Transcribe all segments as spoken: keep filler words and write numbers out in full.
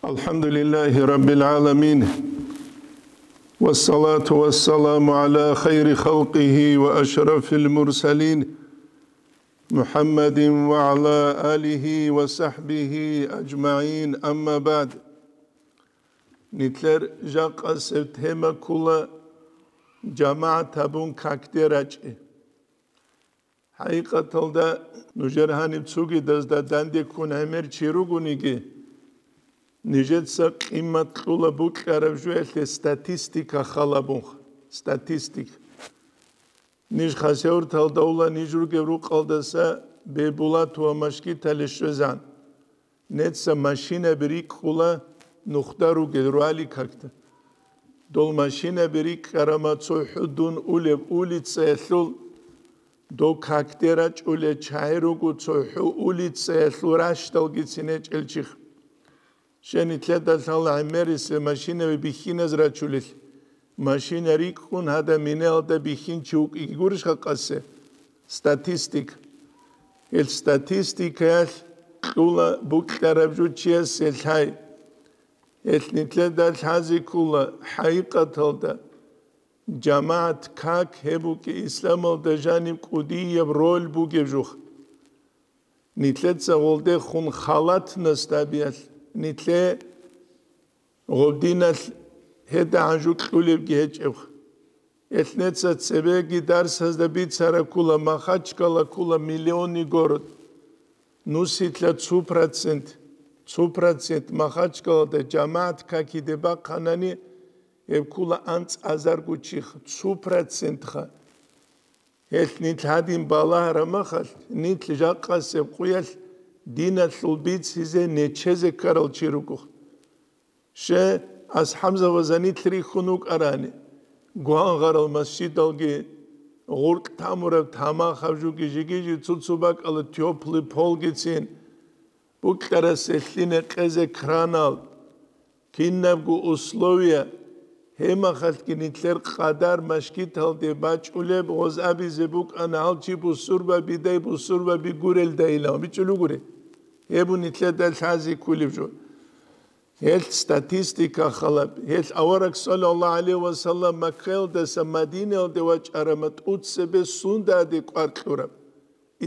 الحمد لله رب العالمين، والصلاة والسلام على خير خلقه وأشرف المرسلين، محمد وعلى آله وصحبه أجمعين، أما بعد. Нилъер жакъасеб тема ккола: жамагӀат гьабун какде рачӀи. ХӀакъикъаталда, нужер гьаниб цогидазда данде ккун гӀемер чи ругониги, нижеца къимат кьула букьараб жоялъе статистика халабунха. Статистика. Ниж хасавюрталда ула, ниж ругеб рукъалдаса Бейбулат ва Машгитале щвезан. Неца машинаби рикӀкӀула нухда ругел руали какда. Дол машинаби рикӀкӀарама цо хӀу дун улеб улицаялъул, дов какде рачӀулел чагӀи руго цо хӀу улицаялъул ращдалгицин гьечӀел чиха. Щай, нилъеда лъала гӀемерисел машинаби бихьиназ рачулел, машина рикӀкӀун гьадаб минаялда бихьинчи вукӀиги гурищха къасе? Статистика. Гьел статистикаялъ кьула букьараб жо чиясе лъай. Гьел нилъеда лъазе ккола хӀакъикъаталда жамагӀат как гьеб букӀи исламалда жаниб кӀудияб роль бугеб жух. Нилъеца гъолдехун халатнас табиялъ, нилъе гъобдиналъ гьеда гӀанжу кьулебги гьечӀеб. Элънеца цебеги дарсазда бицара ккула, Махачкала ккула миллионный город. Нусилъа цу процент, цу процент Махачкалада жамагӀат какиде бахъанани, гьеб ккула анцӀазарго чиха, цу процентха. Гьелъ нилъ гьадин балагьараб махалъ, нилъ жакъасеб къуялъ диналъул бицизе нечезе ккарал чи руго. Ще, асхӀабзабаза нилъ рихьун вукӀарани, гвангъарал масжидалги, гъуркь тамураб тамахаб жуги жиги-жи цо-цо бакӀала тёплый полгицин, букьарасел лъине къезе кранал, кинабго условия, гьемахалъги нилъер къадар машгиталде бачӀулеб гъоз абизе букӀана гьал чи бусурба бидай бусурба бигурелдайилан бичӀулугури. Гьеб нилъеда лъази ккулеб жо. Гьелъ статистика халаб. Гьелъ авараг, саллаллагьу гӀалайгьи ва саллам, Маккаялдаса Мадинаялде вачӀарама тӀуцебе сундаде кӀвар кьураб.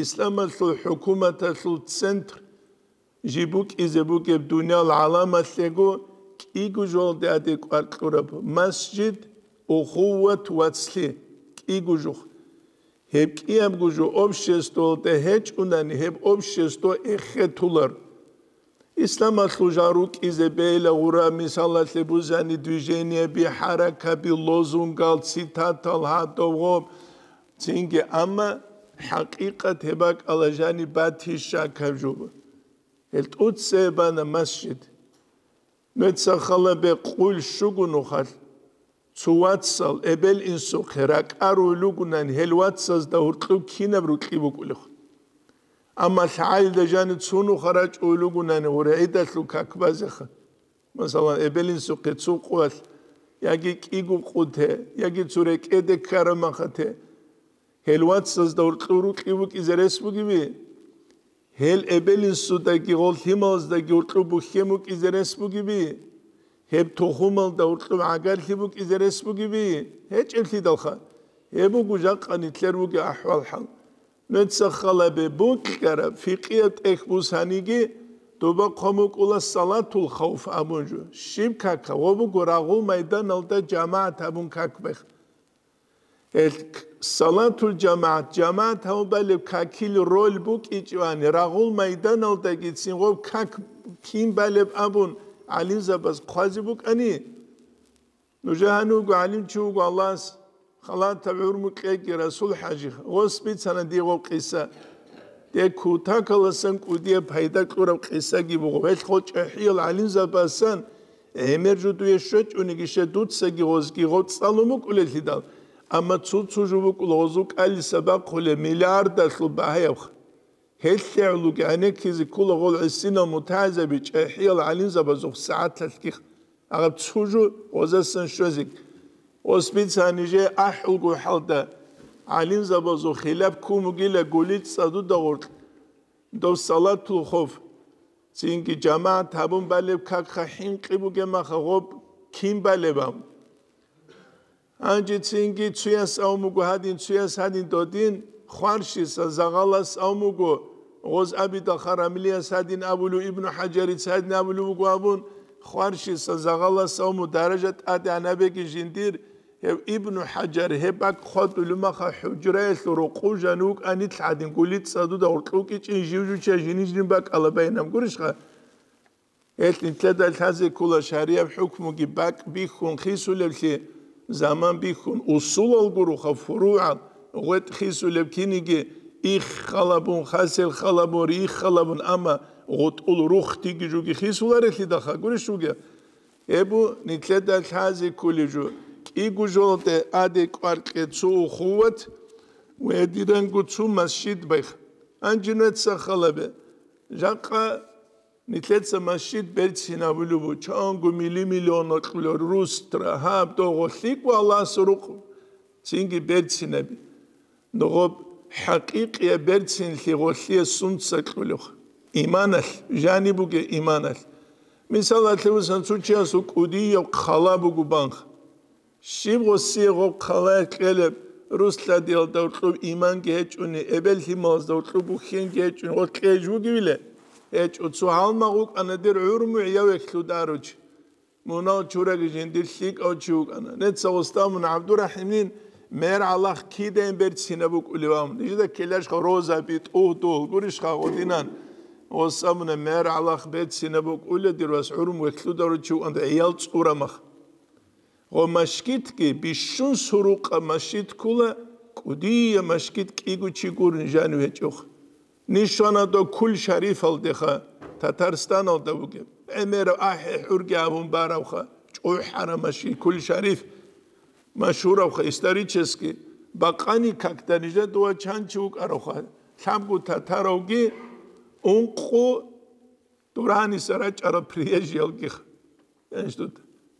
Исламалъул хӀукуматалъул центр жиб букӀизе бугеб дуниял гӀаламалъего кӀиго жолде адекӀвар кьураб масжид, ухуват, вацлъи, кӀиго жух. Гьеб кӀиябго жо обществоялда гьечӀунани, гьеб общество эхетулар. Исламалъул жал рукӀизе бейла гъура, мисалалъе бузани, движениеби, хӀаракаби, лозунгал, цитатал, гьадов гъоб, цинги, амма хӀакъикъат гьеб бакӀала жаниб батищ шакаб жуго. Гьел тӀуцебана масжид. Нуца халабе къуйл щуго нухалъ. Цо вацал эбел-инсухъе ракӀарулел ругунани, гьел вацазда гьуркьуб кинаб рукьи букӀулехъ. Амма лъагӀалида жанив цо нуха рачӀулел ругунани гъури гӀидалъул как базеха. Масалан, эбел-инсухъе цо къуялъ, яги кӀиго къуте, яги цо рекӀеде ккарамахате. Гьел вацазда гьуркьу рукьи букӀизе рес бугеби? Гьел эбел-инсудаги гъол лъималаздаги гьуркьу бухьен букӀизе рес бугеби? Гьеб тухумалда гьуркьу гӀагарлъи букӀизе рес бугеби? ГьечӀеблъидалха. Гьеб буго жакъа нилъер бугеб ахӀвал-хӀал. Нуца халабе букьараб фикъияб тӀехь бусаниги, доба хъван букӀула салатул хавф абун жо. Щиб кака? Гъо буго рагъул майданалда жамагӀат гьабун как бех. Гьел салатул жамагӀат, жамагӀат гьавун балеб какил роль букӀичӀони, рагъул майданалдагицин гъоб как кин балеб абун гӀалимзабаз хъвазе букӀани, нужер гьанивго гӀалимчи вуго Аллагьас халатаб гӀумру кьеги, Расул-хӀажи, гъос бицана дие гъоб къиса. Дие кутакаласан кӀудияб пайда кьураб къисаги буго. Гьелъ гъо чӀахӀиял гӀалимзабасан гӀемер жо дуе щвечӀониги, ще дуцаги гъозги гъо цӀалун букӀулеллъидал, амма цо-цо жо букӀула гъозул кӀалиса бахъулеб миллиардалъул багьаябха. Гьелъ гӀолуги гӀенеккизе ккола гъол гӀисинал мутагӀилзаби чӀахӀиял гӀалимзабазухъ сагӀатлъалъги. Агъаб цо жо гъозасан щвезеги. Гъос бицани жей ахӀулго хӀалда гӀалимзабазул хилаб ккун бугила гулил цӀадуда гъоркь, дов салатул хавф. Цинги жамагӀат гьабун балеб какха хӀинкъи бугеб маха гъоб кин балеб абун. Гьанже цинги цуяс авун буго гьадин, цуяс гьадин додин, хварщиса загъалас авун буго, гъоз абидал харамлияс гьадин абулев, Ибну ХӀажарица гьадин абулев буго абун, хварщиса загъалас авун буго даража тӀадегӀанабеги жиндир, гьев Ибну ХӀажар гьеб бакӀ хъватӀулев маха хӀужраялъул рокъов жанив вукӀанилъ гьадин гулица дуда гъоркьукӀичӀин жив-жуча жиниж-жин бакӀала байнаб гурищха? Гьелъ нилъеда лъазе ккола шарияб хӀукмуги бакӀ бихьун хисулевлъи, заман бихьун, усулал гуроха, фуругӀал, гъветӀ хисулеб киниги, их халабун, хасел халабун, рих халабун, амма гъутӀул рухтиги жуги хисуларелъидалха гурищ вугев? Гьеб бу нилъеда лъазе кколеб жо, кӀиго жолде аде кӀваркье цо ухуват ва гьедиранго цо масжид байх. Гьанже нуца халабе. Жакъа нилъеца масжид берцинабулеб бу, чанго мили-миллион кьулел рустра, гьаб догъо лъикӀ ва Аллагьас рукъ цинги берцинаби. Ногъоб хӀакъикъияб берцинлъи гъолъие сунца кьулев? Иманалъ, жаниб бугеб иманалъ. Мисалалъе, вусан цо чиясул кӀудияб хъала буго банх. Щиб гъосие гъоб хъалаялъ кьелеб, рус-лъадиялда гьоркьоб иманги гьечӀони, эбел-лъималазда гьоркьоб бухьенги гьечӀони, гъо кьеж вугевиле? ГьечӀо, цо гьалмагъ вукӀана дир гӀурму гӀияв вехьлъударучи. Мунал чураги жиндир лъикӀав чи вукӀана. Нецца гъосда мун ГӀабдурахӀимнин мер гӀалахъ кидаин берцинаб букӀулев ам. Нижеда ккелашха розаби, тӀугьдул, гурищха гъодинан. Гъосда мун мер гӀалахъ берцинаб букӀулев дир вас гӀурму вехьлъударучи вукӀана, гӀиял цӀурамах. Гъо машгитги бищун сурукъа машгит ккула, кӀудия машгит кӀиго чи гур нижанив гьечӀох. Нишана до Кул-Шарифалдеха, Татарстаналда бугеб. ГӀемерав ахӀи-хӀурги абун баравха, чӀухӀара машгит Кул-Шариф. Машгьуравха исторически. Бакъани какда нижа дова чанчи вукӀаравха. Лъабгу татаравги ункъу Дураниса рачӀарал приезжиялгиха.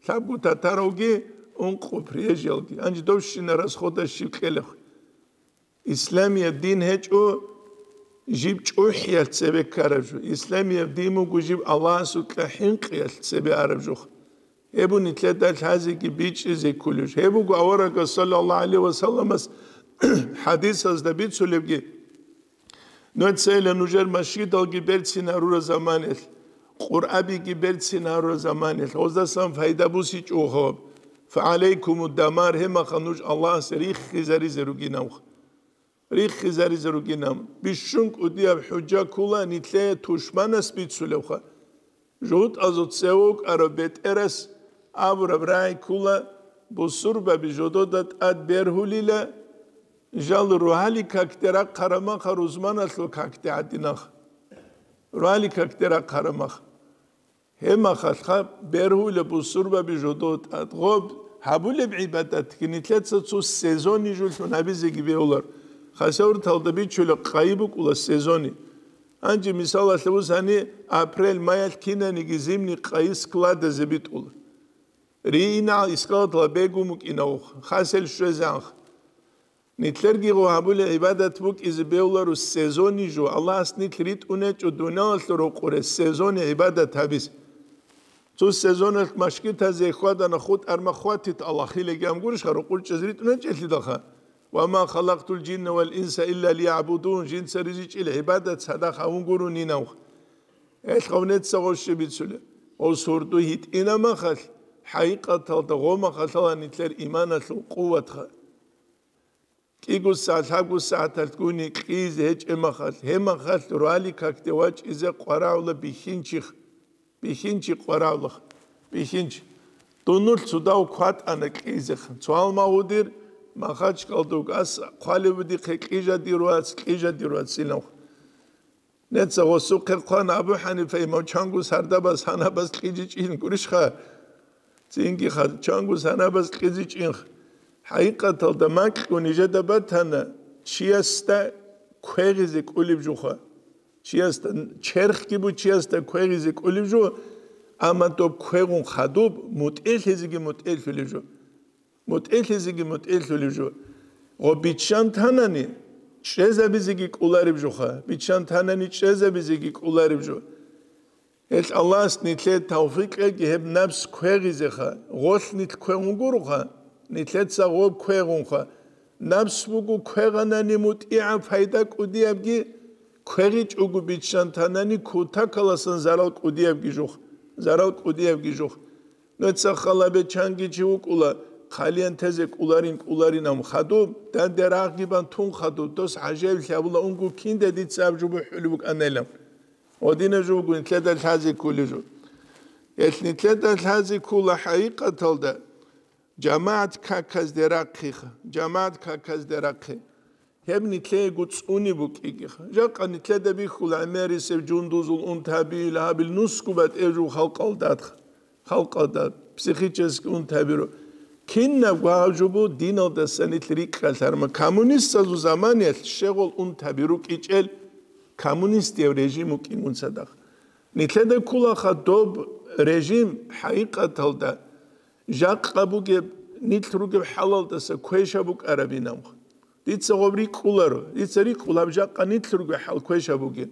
Лъабгу татаравги, ункъу приезжиялги. Гьанже довщина расхода щиб кьелехъ. Исламияб дин гьечӀо жиб чӀухӀиялъ цебе ккараб жо. Исламияб дин буго жиб Аллагьасукьа хӀинкъиялъ цебе араб жо. Гьеб бу нилъеда лъазеги бичӀчӀизе кколеб жо. Гьеб буго аварагас саллаллагьу гӀалайгьи ва салламас хӀадисазда бицулебги, Нуцайила нужер машгидалги берцин гьарура заманилъ, Къуръабиги берцин гьарура заманилъ, гъоздасан пайда бусичӀого. ФагӀалайкуму дамар, гьемаха нуж Аллагьас риххизаризе ругинавха. Риххизаризе ругинав. Бищун кӀудияб хӀужа ккула нилъее тушманас бицулевха. ЖугьутӀазул цеве вукӀарав бетӀерас абураб рагӀи ккула, бусурбаби жодода тӀад бергьулила, жал рогьалил какде рахъараб маха рузманалъул какде гӀадинах. Рогьалил какде рахъараб маха. Гьеб махалъха бергьула бусурбаби жодода тӀад. Гъоб гьабулеб гӀибадатги нилъеца цо сезони жулъун гьабизеги бегьулар. Хасавюрталда бичула къайи букӀула сезони. Гьанже мисалалъе бусани, апрель-маялъ кинаниги зимний къайи складазе битӀула. Рийинал искалатла бегун букӀинавухъ, хасел щвезанхъ. Нилъерги гъо гьабулеб гӀибадат букӀизе бегьуларо сезони жо, Аллагьас нилъ ритӀунечӀо дуниялалъул рокъоре сезони гӀибадат гьабизе. Цо сезоналъ машгитазе хьвадана, хутӀ арма хватит Аллагь, хилаги ам гурищха, рукъурчӀаз ритӀуначӀелъидалха. «Ва ма халакътул жинна вал инса илля лиягӀбудун», жинца ризичӀил гӀибадат цадахъ гьавун гурунинавха. Гьелъ гъавнеца гъощи бицулеб. Гъос гьурду гьитӀина махалъ, хӀакъикъаталда гъо махалъала нилъер иманалъул къуватха. КӀиго сагӀат, лъабго сагӀаталъ гуни кьизе гьечӀеб махалъ, гьеб махалъ руали какде вачӀизе къварагӀула бихьинчи, бихьинчи къварагӀулахъ, бихьинчи. Дунул цудав кватӀана кьизехъан. Цо гьалмагъудир Махачкалдуг ас хъвалеб будихъе кьижадир вац, кьижадир вац инав. Неца гъосухъе хъван Абу ХӀанифа имам чанго сардабаз гьанабаз кьижичӀин гурищха? Цинги ха-, чанго санабаз кьезичӀин. ХӀакъикъаталда макьго нижеда батана, чиясда квегъизе кӀолеб жуха. Чиясда, черхги бу чиясда квегъизе кӀолеб жо, амма доб квегъун хадуб, мутӀигӀлъизеги мутӀигӀлъулеб жо. МутӀигӀлъизеги мутӀигӀлъулеб жо. Гъо биччан танани, чӀезабизеги кӀолареб жоха. Биччан танани, чӀезабизеги кӀолареб жо. Гьел Аллагьас нилъее тавфикъ кьеги гьеб напс квегъизеха, гъолъ нилъ квегъун гуроха, нилъеца гъоб квегъунха. Напс буго квегъанани мутӀигӀаб, пайда кӀудиябги, квегъичӀого биччан танани кутакаласан зарал кӀудиябги жух, зарал кӀудиябги жух. Нуца халабе чанги чи вукӀула, хъалиян тезе кӀуларин-кӀуларин ам хадуб, данде рагъги бан тун хадуб, дос гӀажаиблъи абула унго кинда дица аб жубу хӀули букӀанайилан. Гъодина жугу нилъеда лъазе кколел жо. Гьелъ нилъеда лъазе ккола хӀакъикъаталда жамагӀат каказде рахъиха, жамагӀат каказде рахъи. Гьеб нилъеего цӀуни букӀигиха. Жакъа нилъеда бихьула гӀемерисеб жундузул унтаби, лагьабил нусгу батӀев жугу халкъалдадха. Халкъалда психический унтабиро. Кинабго гьаб жубу диналдаса нилъ рикӀкӀалъарма. Коммунистазул заманиялъ щегъол унтаби рукӀичӀел коммунистияв режим вукӀингун цадахъ. Нилъеда кколаха доб режим хӀакъикъаталда жакъа бугеб, нилъ ругеб хӀалалдаса квеша букӀарабинабха. Дица гъоб рикӀкӀуларо, дица рикӀкӀул гьаб жакъа нилъ ругеб хӀал квеша бугеб.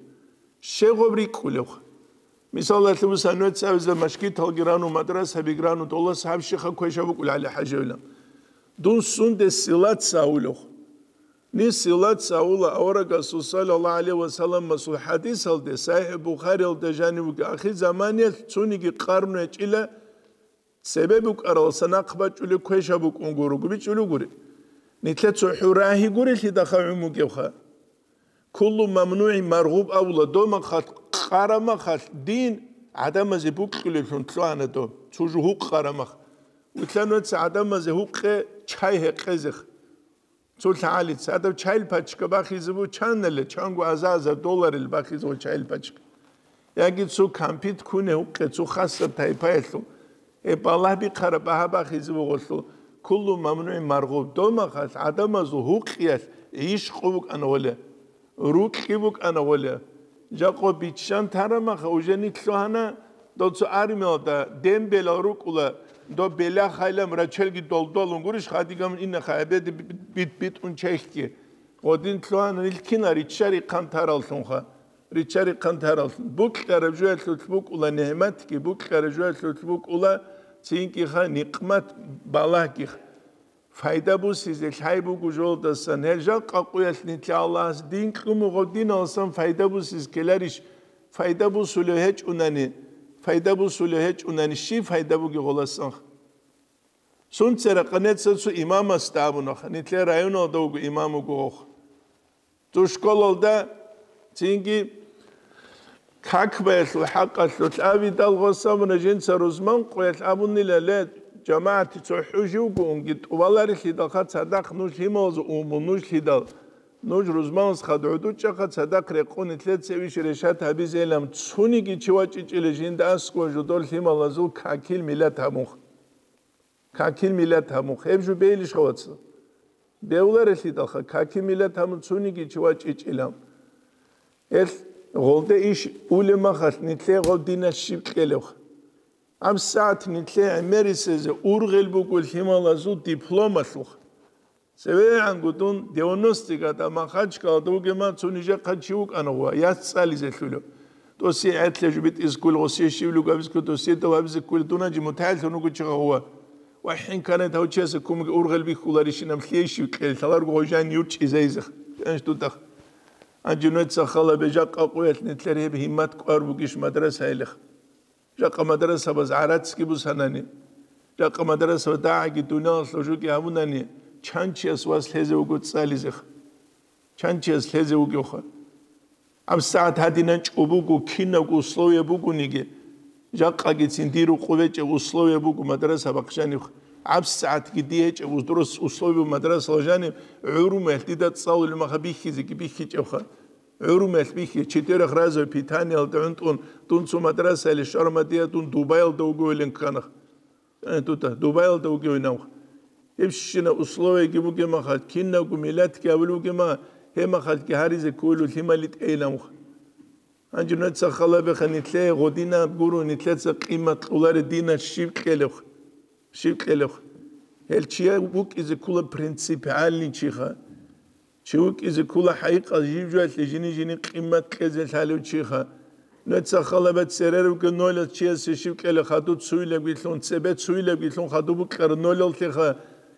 Щегъоб рикӀкӀулевха. Мисалалъе, буса, нуца абиза машгиталги рану, мадрасабиги рану, долас гьаб щиха квеша букӀул гьале хӀажавилан. Дун сунде силаца авулев. Ни силаца авула аварагасул саллаллагьу гӀалайгьи ва салламасул хӀадисалде, СахӀихӀ Бухариялда жанив вуги, ахир заманиялъ цуниги къарну гьечӀила, цебе букӀаралса нахъ бачӀулеб квеша букӀун гуруго бичӀулев гури. Нилъе цохӀо рагьи гурелъидахъа гӀумугевха. Куллу мамнугӀин маргъуб авула домахъалъ, къарамахъалъ дин гӀадамазе букьулеблъун лъугьана доб, цо жугьукъ къарамах. Вилълъан веца гӀадамазе гьукъе чай гьекъезех. Цо лъагӀалица гьадаб чайил пачка бахизе бу чаннале, чанго аза-азар долларил бахизе бу чайил пачка. Яги цо кампит куне гьукъе, цо хасаб тайпаялъул. Гьеб балагь бихъараб багьа бахизе бугъулъул, куллу мамнугӀин маргъуб. Домахъалъ гӀадамазул гьукъиялъ гӀишкъу букӀана гъоле, рукьи букӀана гъоле. Жакъо биччан тарамаха, уже нилъ лъугьана, дол цо армиялда ден белал рукӀула, доб белахъайилан рачелги долдолун гурищ, хадигамун иннахъа гӀебеде бит-, бит-, битӀун чехьги. Гъодин лъугьана нилъ кина риччари хъантараллъунха. Риччари хъантараллъун. Букьараб жоялъулъ букӀула нигӀматги, букьараб жоялъулъ букӀула цинкӀиха никъмат балагьгих. Файда бусизе лъай буго жолдасан. Гьел жакъа къуялъ нилъа Аллагьас дин кьумугъав диналсан файда бусиз ккеларищ? Файда бусулев гьечӀунани, файда бусулев гьечӀунани щиб файда буги гъоласан? Сунцера къанеца цо имамасда абунаха, нилъер районалда вуго имам вуго гъох. Цо школалда цинги какбаялъул хӀакъалъулъ абидал гъосамуна жинца рузман къуялъ абунила, ле, жамагӀати цо хӀужи вуго унги тӀубаларелъидалха цадахъ нуж лъималазу уму нуж лъидал, нуж рузманас хадгӀудучӀаха цадахъ рекъун нилъеца иш решат гьабизелам цуниги чи вачӀичӀила жинда аскӀова жодор лъималазул какил миллат гьабунха. Какил миллат гьамун хеб жубейилищ гъаваца? Бевларелъидалха, какил миллат гьамун цуниги чи вачӀичӀилан. Гьелъ гъолде иш улеб махалъ, нилъее гъов динас щиб кьелевха? ГьабсагӀат нилъее гӀемерисезе ургъел буго лъималазул дипломалъуха. ЦевегӀанго дун девяностый года Махачкалада вугема, цо нижехъан чи вукӀана гъува, яц цӀализе лъула. Досие гӀедлъа жубитӀизе ккола, гъосие щивлуго абизе ккола, досие дов абизе ккола, дун гьанже мутагӀиллъун вуго чи гъува. Ва хӀинканай тавчияса кумги ургъел бихьуларищинаб лъейищив кьел, лъаларго гъожан юрчӀизайзех. Гьанж дудах. Гьанже нуца халабе жакъа къуялъ нилъер гьеб гьиммат кӀвар бугищ мадрасаялих? Жакъа мадрасабаз гӀарацги бусанани, жакъа мадрасабаз дагӀаги дуниялалъул жуги гьабунани, чан чияс вас лъезе вуго цӀализех? Чан чияс лъезе вугевха? ГьабсагӀат гьадинан чӀобуго, кинабго условие бугониги, жакъагицин дир рукъу бечӀеб условие буго мадраса бахъ жаниб. ГьабсагӀатги дие гьечӀеб ус-, дурус условие мадрасала жаниб, гӀурумелъ дида цӀалулеб маха бихьизеги бихьичӀебха. ГӀурумелъ бихьи, четырёхразовое питаниялда гӀунтӀун, дун цо мадрасаяле щвармадия, дун Дубаялда вугевилин ккана. Э, дута, Дубаялда вугевинавха. Гьебщина условияги бугемахал, кинабго миллатги гьавил вугема, гьемахалги гьаризе кколев лъимали тӀейилавха. Гьанже нуца халабеха нилъее гъодинаб гуро, нилъеца къимат кьоларе динас щиб кьелевха? Щиб кьелевха? Гьел чияв вукӀизе ккола принципиальный чиха. Чи вукӀизе ккола хӀайикъал жив-жуялъе жини-жини къимат кьезе лъалев чиха. Нуца халабе цере ругел нолаз чиясе щив кьела хадуб цуйлебгилъун, цебе цуйлебгилъун хадуб букӀара нолаллъиха,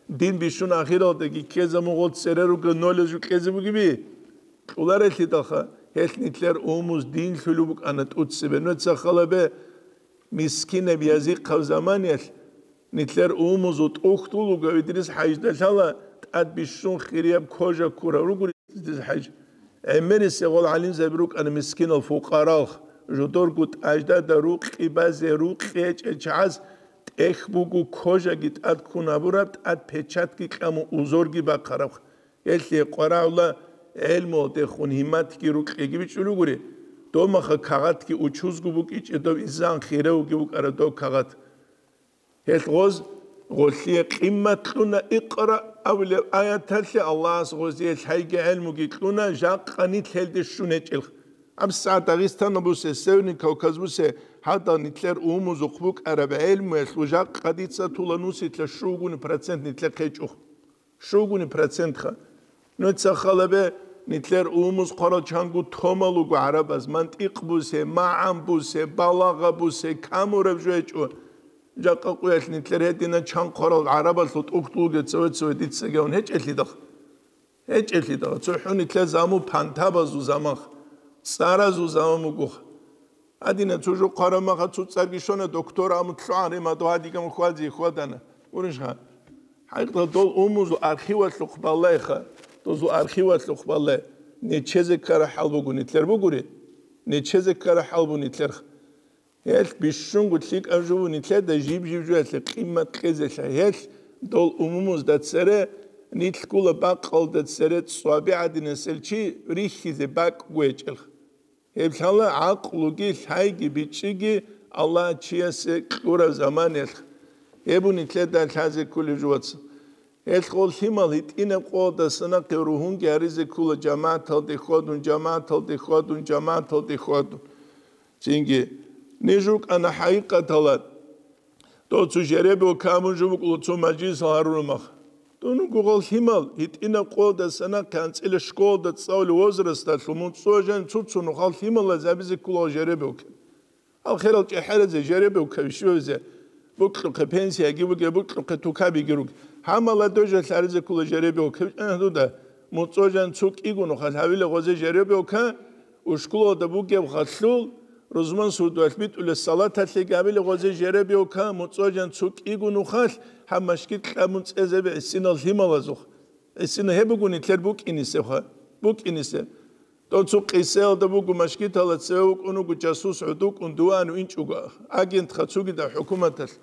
дин бищун ахиралдаги ккезабун гъол цере ругел нолаз жо кьезе бугеби? Кьоларелъидалха, гьелъ нилъер умумуз дин лъулеб букӀана тӀуцебе. Нуца халабе мискинаб язихъав заманиялъ нилъер умумузул тӀухьдул вугев Идрис ХӀажда лъала тӀад бищун хирияб кожа ккурав руго Идрис ХӀаж. ГӀемерисегъол гӀалимзаби рукӀана мискинал фукъаралъ, жодорго тӀаждада рукъи базе рукъи гьечӀел чагӀаз тӀехь буго кожаги тӀад ккун гьабураб, тӀад печатги кьамун узорги бахъараб. Гьелъие къварагӀула гӀелмуялдехун гьимматги рукьиги бичӀчӀулугури, домаха кагъатги учузго букӀичӀеб доб изан хиравги букӀара доб кагъат. Гьелъ гъоз гъолъие къиммат кьуна икъра абулеб аяталъе Аллагьас гъозие лъайги гӀелмуги кьуна, жакъа нилъ гьелде щун гьечӀелха. АбсагӀат Дагъистанал бусе, Северный Кавказ бусе, гьадал нилъер умумузухъ букӀараб гӀелмуялъул жакъа дица тула нусилъа щугуни процент нилъехъ гьечӀо. Щугуни процентха. Нуца халабе, нилъер умумуз хъварал чанго томал руго гӀарабаз, мантикъ бусе, магӀан бусе, балагъа бусе, камураб жо гьечӀо. Жакъа къуялъ нилъер гьедина чан хъварал гӀарабалъул тӀухьдулги цеве-цеве дицаги гьечӀелъидал. ГьечӀелъидал, цохӀо нилъер заму пантабазул заманха, цӀаразул заман бугоха. Гьадина цо жо хъвараб маха цо цӀарги щвана, доктор аму лъугӀан рима догьа диган хьвази хьвадана. Гурищха? ХӀакъикъаталда дол умузул архивалъухъ балайха, дозул архивалъухъ балай. Нечезе ккара хӀал буго нилъер бугури? Нечезе ккара хӀал буго нилъерха. Гьелъ бищунго лъикӀаб жо буго нилъеда жиб-жиб жоялъе къимат кьезелъа. Гьелъ дол умумузда цере, нилъгула бакъалда цере цӀваби гӀадинасел чи рихьизе бакӀго гьечӀелха. Гьеб лъала гӀакълуги лъайги бичӀчӀиги Аллагь чиясе кьураб заманалъ. Гьеб нилъеда лъазе кколеб жо, вацал. Гьелъ гъол лъимал гьитӀинаб къоялдаса нахъе ругьунги гьаризе ккола жамагӀаталде хьвадун, жамагӀаталде хьвадун, жамагӀаталде хьвадун. Цинги, ниж рукӀана хӀакъикъаталда. Дов цо жеребиука абун жо букӀула цо мажлисал гьарураб мах. Дун гугъал лъимал, гьитӀинаб къоялдаса нахъе анцӀила школалда цӀалулев возрасталъул муцӀцӀу жан цо-цо нухал лъималаз абизе ккола жеребиука. Гьал херал чӀехӀеразе жеребиука вищевзе, букьухъе пенсияги буге, букьухъе тукабиги руг. Гьа, молодёжалъ гьаризе ккола жеребиука, вичӀана дуда, муцӀцӀу жан цо кӀиго нухал гьавила гъозе жеребиука, ушкулалда бугеб халъул, Рузман сурдуялъ битӀулеб салаталъе гьабила гъозе жеребиука, муцӀцӀу жан цо кӀиго нухалъ гьаб машгит кьабун цӀезабе гӀисинал лъималазухъ. ГӀисина гьеб буго нилъер букӀинисебха, букӀинисеб. Дов цо къисаялда буго, машгитала цеве вукӀун вуго жасус гӀодукӀун дуван винчӀого агентха цогидаб хӀукуматалъ.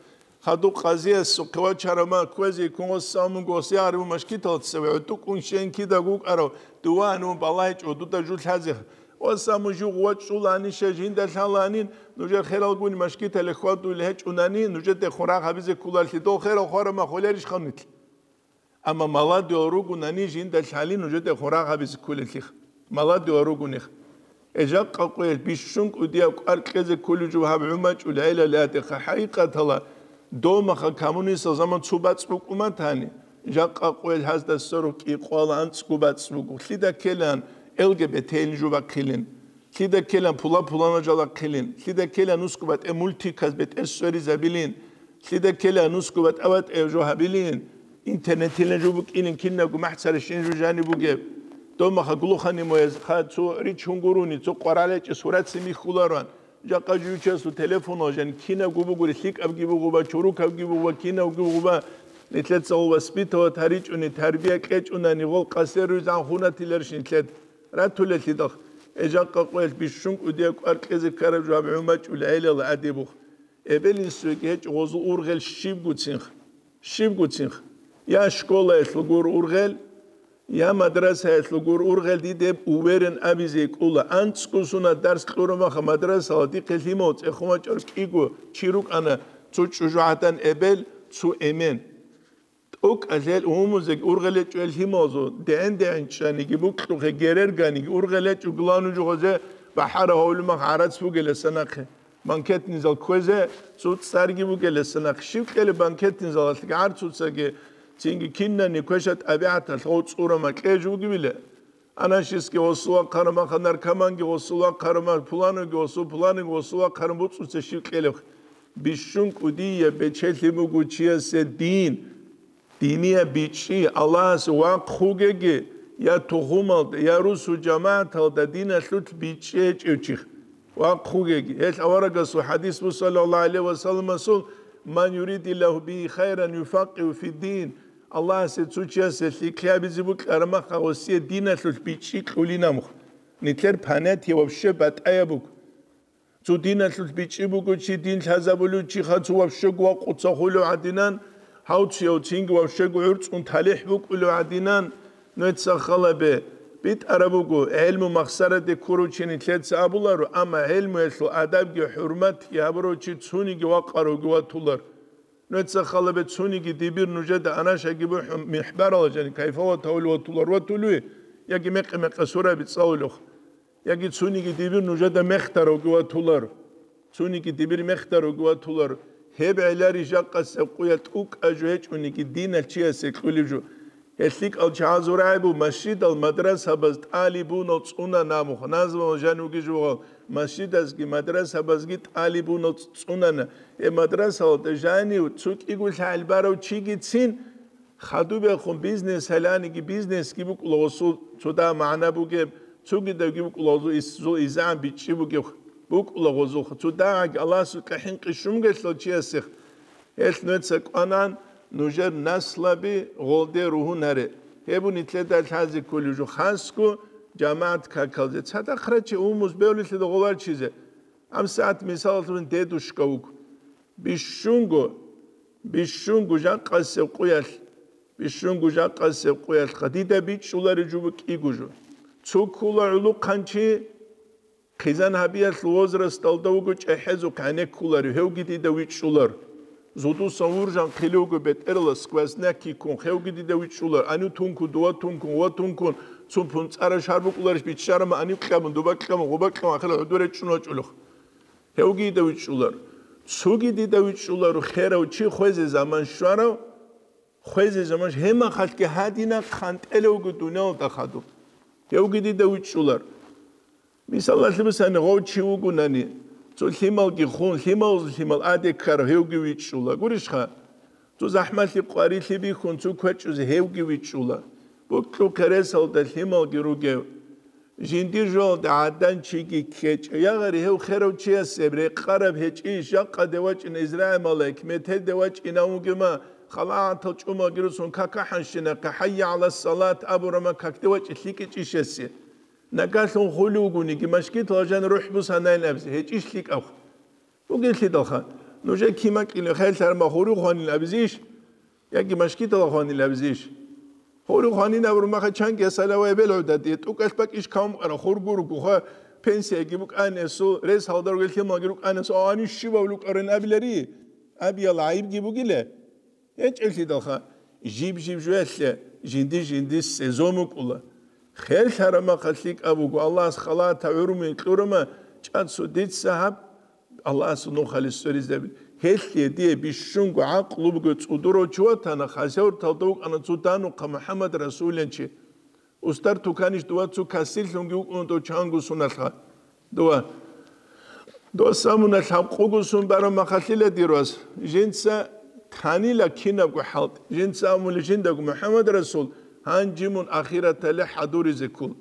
Хадуб къазиясухъе вачарав ма кквезе ккун гъос самун гос ягъарив машгиталцев гӀодукӀун щен кидаго вукӀарав дуван вун балагьичӀо дуда жу лъазе. Ва саму жугъ вачӀуланиша жинда лъаланин, нужер хералгун машгитале хьвадулел гьечӀунани, нужеде хурагь гьабизе кколалъе дол херал хвараб ма холерищха нилъ? Амма маладуял ругунани жинда лъали нужеде хурагь гьабизе кколелъих. Маладуял ругунех. Эжакъа къоялъ бищун кӀудияв кӀвар кьезе кколев жо гьаб гӀумачӀул гӀелалиатиха. ХӀакъикъатала, домаха коммунистал заман цо бацӀ букӀуматани, жакъа къоялъ гьазда сорок кӀикъоялда анцӀго бацӀ буго. Лъида ккелан Л Г Б Т-ил жо бахъилин. Лъида ккелан пула-пулана жал ахъилин, лъида ккелан нусго батӀе мультиказ бетӀер сверизабилин, лъида ккелан нусго батӀа-батӀе жо гьабилин, интернетилан жо букӀилин, кинабго махӀ царишин жо жаниб бугеб. Дома хаглухани мояз ха цо рич гьунгуруни, цо къваралечӀес гьураци михьулароан, жакъа жуючасул телефонал жан кинабго бугури, лъикӀабги бугъуба, чурукабги бугъуба, кинабги бугъуба, нилъецал воспитывать гьаричӀуни, тарбия кьечӀунани, гъол къасер руйзан хунатиларищ нилъед? Ратулелъидал, эжакъа къоялъ бищун кӀудияв кӀвар кьезе ккараб жо гьаб гӀумачӀул гӀелал гӀадибух. Эбел-инсуеги гьечӀо гъозул ургъел щибгуцинха. Щибгуцинха. Я школаялъул гур ургъел, я мадрасаялъул гур ургъел диде уверен абизе кӀула. АнцӀго сунат дарс кьурабаха мадрасала дихъе лъимал цӀехун вачӀар кӀиго чи рукӀана, цо чӀужугӀадан эбел, цо эмен. ТӀокӀалъел умумузеги ургъел гьечӀо гьел лъималазул, дегӀен-дегӀен чӀаниги, букьухъе герерганиги, ургъел гьечӀо главный жугъазе бахӀара гьавлумах гӀарац бугеласа нахъе. Банкетный зал кквезе цо цӀарги бугеласа нахъе. Щив кьелеб банкетный залалъги гӀарцуцаги, цинги кинани квеша тӀабигӀаталъ гъов цӀура макье жугивила? Анашистги гъосул вахъараб маха, наркоманги гъосул вахъараб маха, пуланиги гъосул, пуланиги гъосул вахъараб буцӀуца щиб кьелеб? Бищун кӀудияб бечелъи буго чиясе дин, динияб бичӀчӀи, Аллагьасе вахъ вугеги, я тухумалда, я русу жамагӀаталда диналъулъ бичӀчӀи гьечӀев чи. Вахъ вугеги. Гьел аварагасул хадис буго, саллаллагьу гӀалайгьи ва салламасул: «Ман юридиллагьу бигьи хайран юфаккъигьу фиддин». Аллагьасе цо чиясе лъикӀлъи гьабизе букӀараб маха, гъосие диналъулъ бичӀчӀи кьулинамухъ. Нилъер понятие вообще батӀаяб буго. Цо диналъулъ бичӀчӀи буго чи, дин лъазабулев чиха цо вообще гуа къуца хулев гӀадинан, гьав цияв цинги вообще гугӀур цӀун талихӀ букӀулев гӀадинан, нуеца халабе битӀараб буго, гӀелму махсараде ккурав чи нилъеца абуларо, амма гӀелмуялъул адабги хӀурматги гьабурав чи цуниги вакъаравги ватулар. Нуеца халабе цуниги дибир нужеда анашаги бухӀун михӀбарала жани кайфа ватавли ватулар ватулуй, яги мекъи-мекъи сураби цӀалулехъ. Яги цуниги дибир нужеда мехтаравги ватулар. Цуниги дибир мехтаравги ватулар. Гьеб гӀелари жакъасеб къуялъ тӀукӀа жо гьечӀониги диналъ чиясе кьулеб жо. ГьелъикӀал чагӀазул рагӀи буго, масжидал мадрасабаз тӀалибунал цӀунана мухъ, назмал жан вуги жугъал, масжидазги мадрасабазги тӀалибунал цӀунана. Гьеб мадрасалда жанив цо кӀиго лъагӀел барав чигицин, хадубехун бизнес гьаланиги, бизнесги букӀула гъосул цо дагь магӀна бугеб, цогидавги букӀула гъозул ис-, зул изегӀан бичӀчӀи бугеб, букӀула гъозулха цо дагьаги Аллагьасукьа хӀинкъи щунгелъул чиясех. Гьелъ нуеца кӀванан, нужер наслаби гъолде ругьун гьаре. Гьеб нилъеда лъазе кколеб жо хасго жамагӀат какалзе. Цадахъ раче умус бевлилъеда гъоларчизе. ГьабсагӀат мисалалъун дедушка вуго. Бищунго, бищунго жакъасеб къуялъ, бищунго жакъасеб къуялъха дида бичӀчӀулареб жо буго кӀиго жо. Цо ккула гӀулухъанчи, хъизан гьабиялъул возрасталда вуго чӀехӀезухъ гӀенеккуларев, гьевги дида вичӀчӀулар. Зодусан вуржан хъилев вуго бетӀерала сквозняк ккун, гьевги дида вичӀчӀулар. Анив тункун, дова тункун, ва тункун, цун пунцӀара шар букӀуларищ биччарама, анив кьабун, дуба кьабун, гъуба кьабун, ахирал гӀодор речӀчӀун вачӀулехъ. Гьевги дида вичӀчӀулар. Цоги дида вичӀчӀуларо херав чи хвезе заман щварав, хвезе заман щ-, гьемахалъги гьадина хъантӀелевго дуниялалда хадуб. Гьевги дида вичӀчӀулар. Мисалалъе бусани, гъов чи вугунани, цо лъималги хун, лъималазул лъимал аде ккарав, гьевги вичӀчӀула. Гурищха? Цо захӀмалъи къварилъи бихьун, цо квечӀузе, гьевги вичӀчӀула. Букьу-хъересалда лъималги ругев. Жиндир жоялда гӀадан чиги ккечӀев, ягъари гьев херав чиясеб рекъараб гьечӀищ, жакъаде вачӀина Израил малаик, метерде вачӀина вугема, халаатал чӀумалги русун какахӀанщинахъе, хӀайя гӀала салат абурама какде вачӀи лъикӀичӀищ гьесие. Нагалъун хулев вугониги, машгитал жан рухӀ бусанайин абизе, гьечӀищ лъикӀав. Бугелъидалха, нужер кимакӀилев херлъарма гьурив хванин абизейищ? Яги машгитала хванин абизейищ? Гьурив хванин абурмаха чанги салавай белгӀуда, дие тӀукӀалъ бакӀищ кавум къара, хур гургуха, пенсияги букӀанесул, рес гьалда ругел лъималги рукӀанесул, а, гьанив щибав лукӀарин абилари? Абиял гӀайибги бугила? ГьечӀелъидалха, жиб-жиб жоялъе жинди-жинди сезон букӀула. Херлъараб махъа лъикӀаб буго, Аллагьас халата гӀурмуе кьурама, чӀацу дица гьаб Аллагьасул нухалис цӀеризабин. Гьелъие дие бищунго гӀакълу буго цӀудурав чи ватана, хасавурталда вукӀана цо данухъа МухӀаммад Расулинчи. Устар туканищ дова цо касирлъунги вукӀун дов чанго суналъха. Дова. Дос амуна лъабкъугу сун бараб махалъила дир вас. Жинца танила кинабго хӀалтӀи. Жинца амули жиндаго МухӀаммад Расул, гьанжи мун ахиратале хӀадуризе ккул.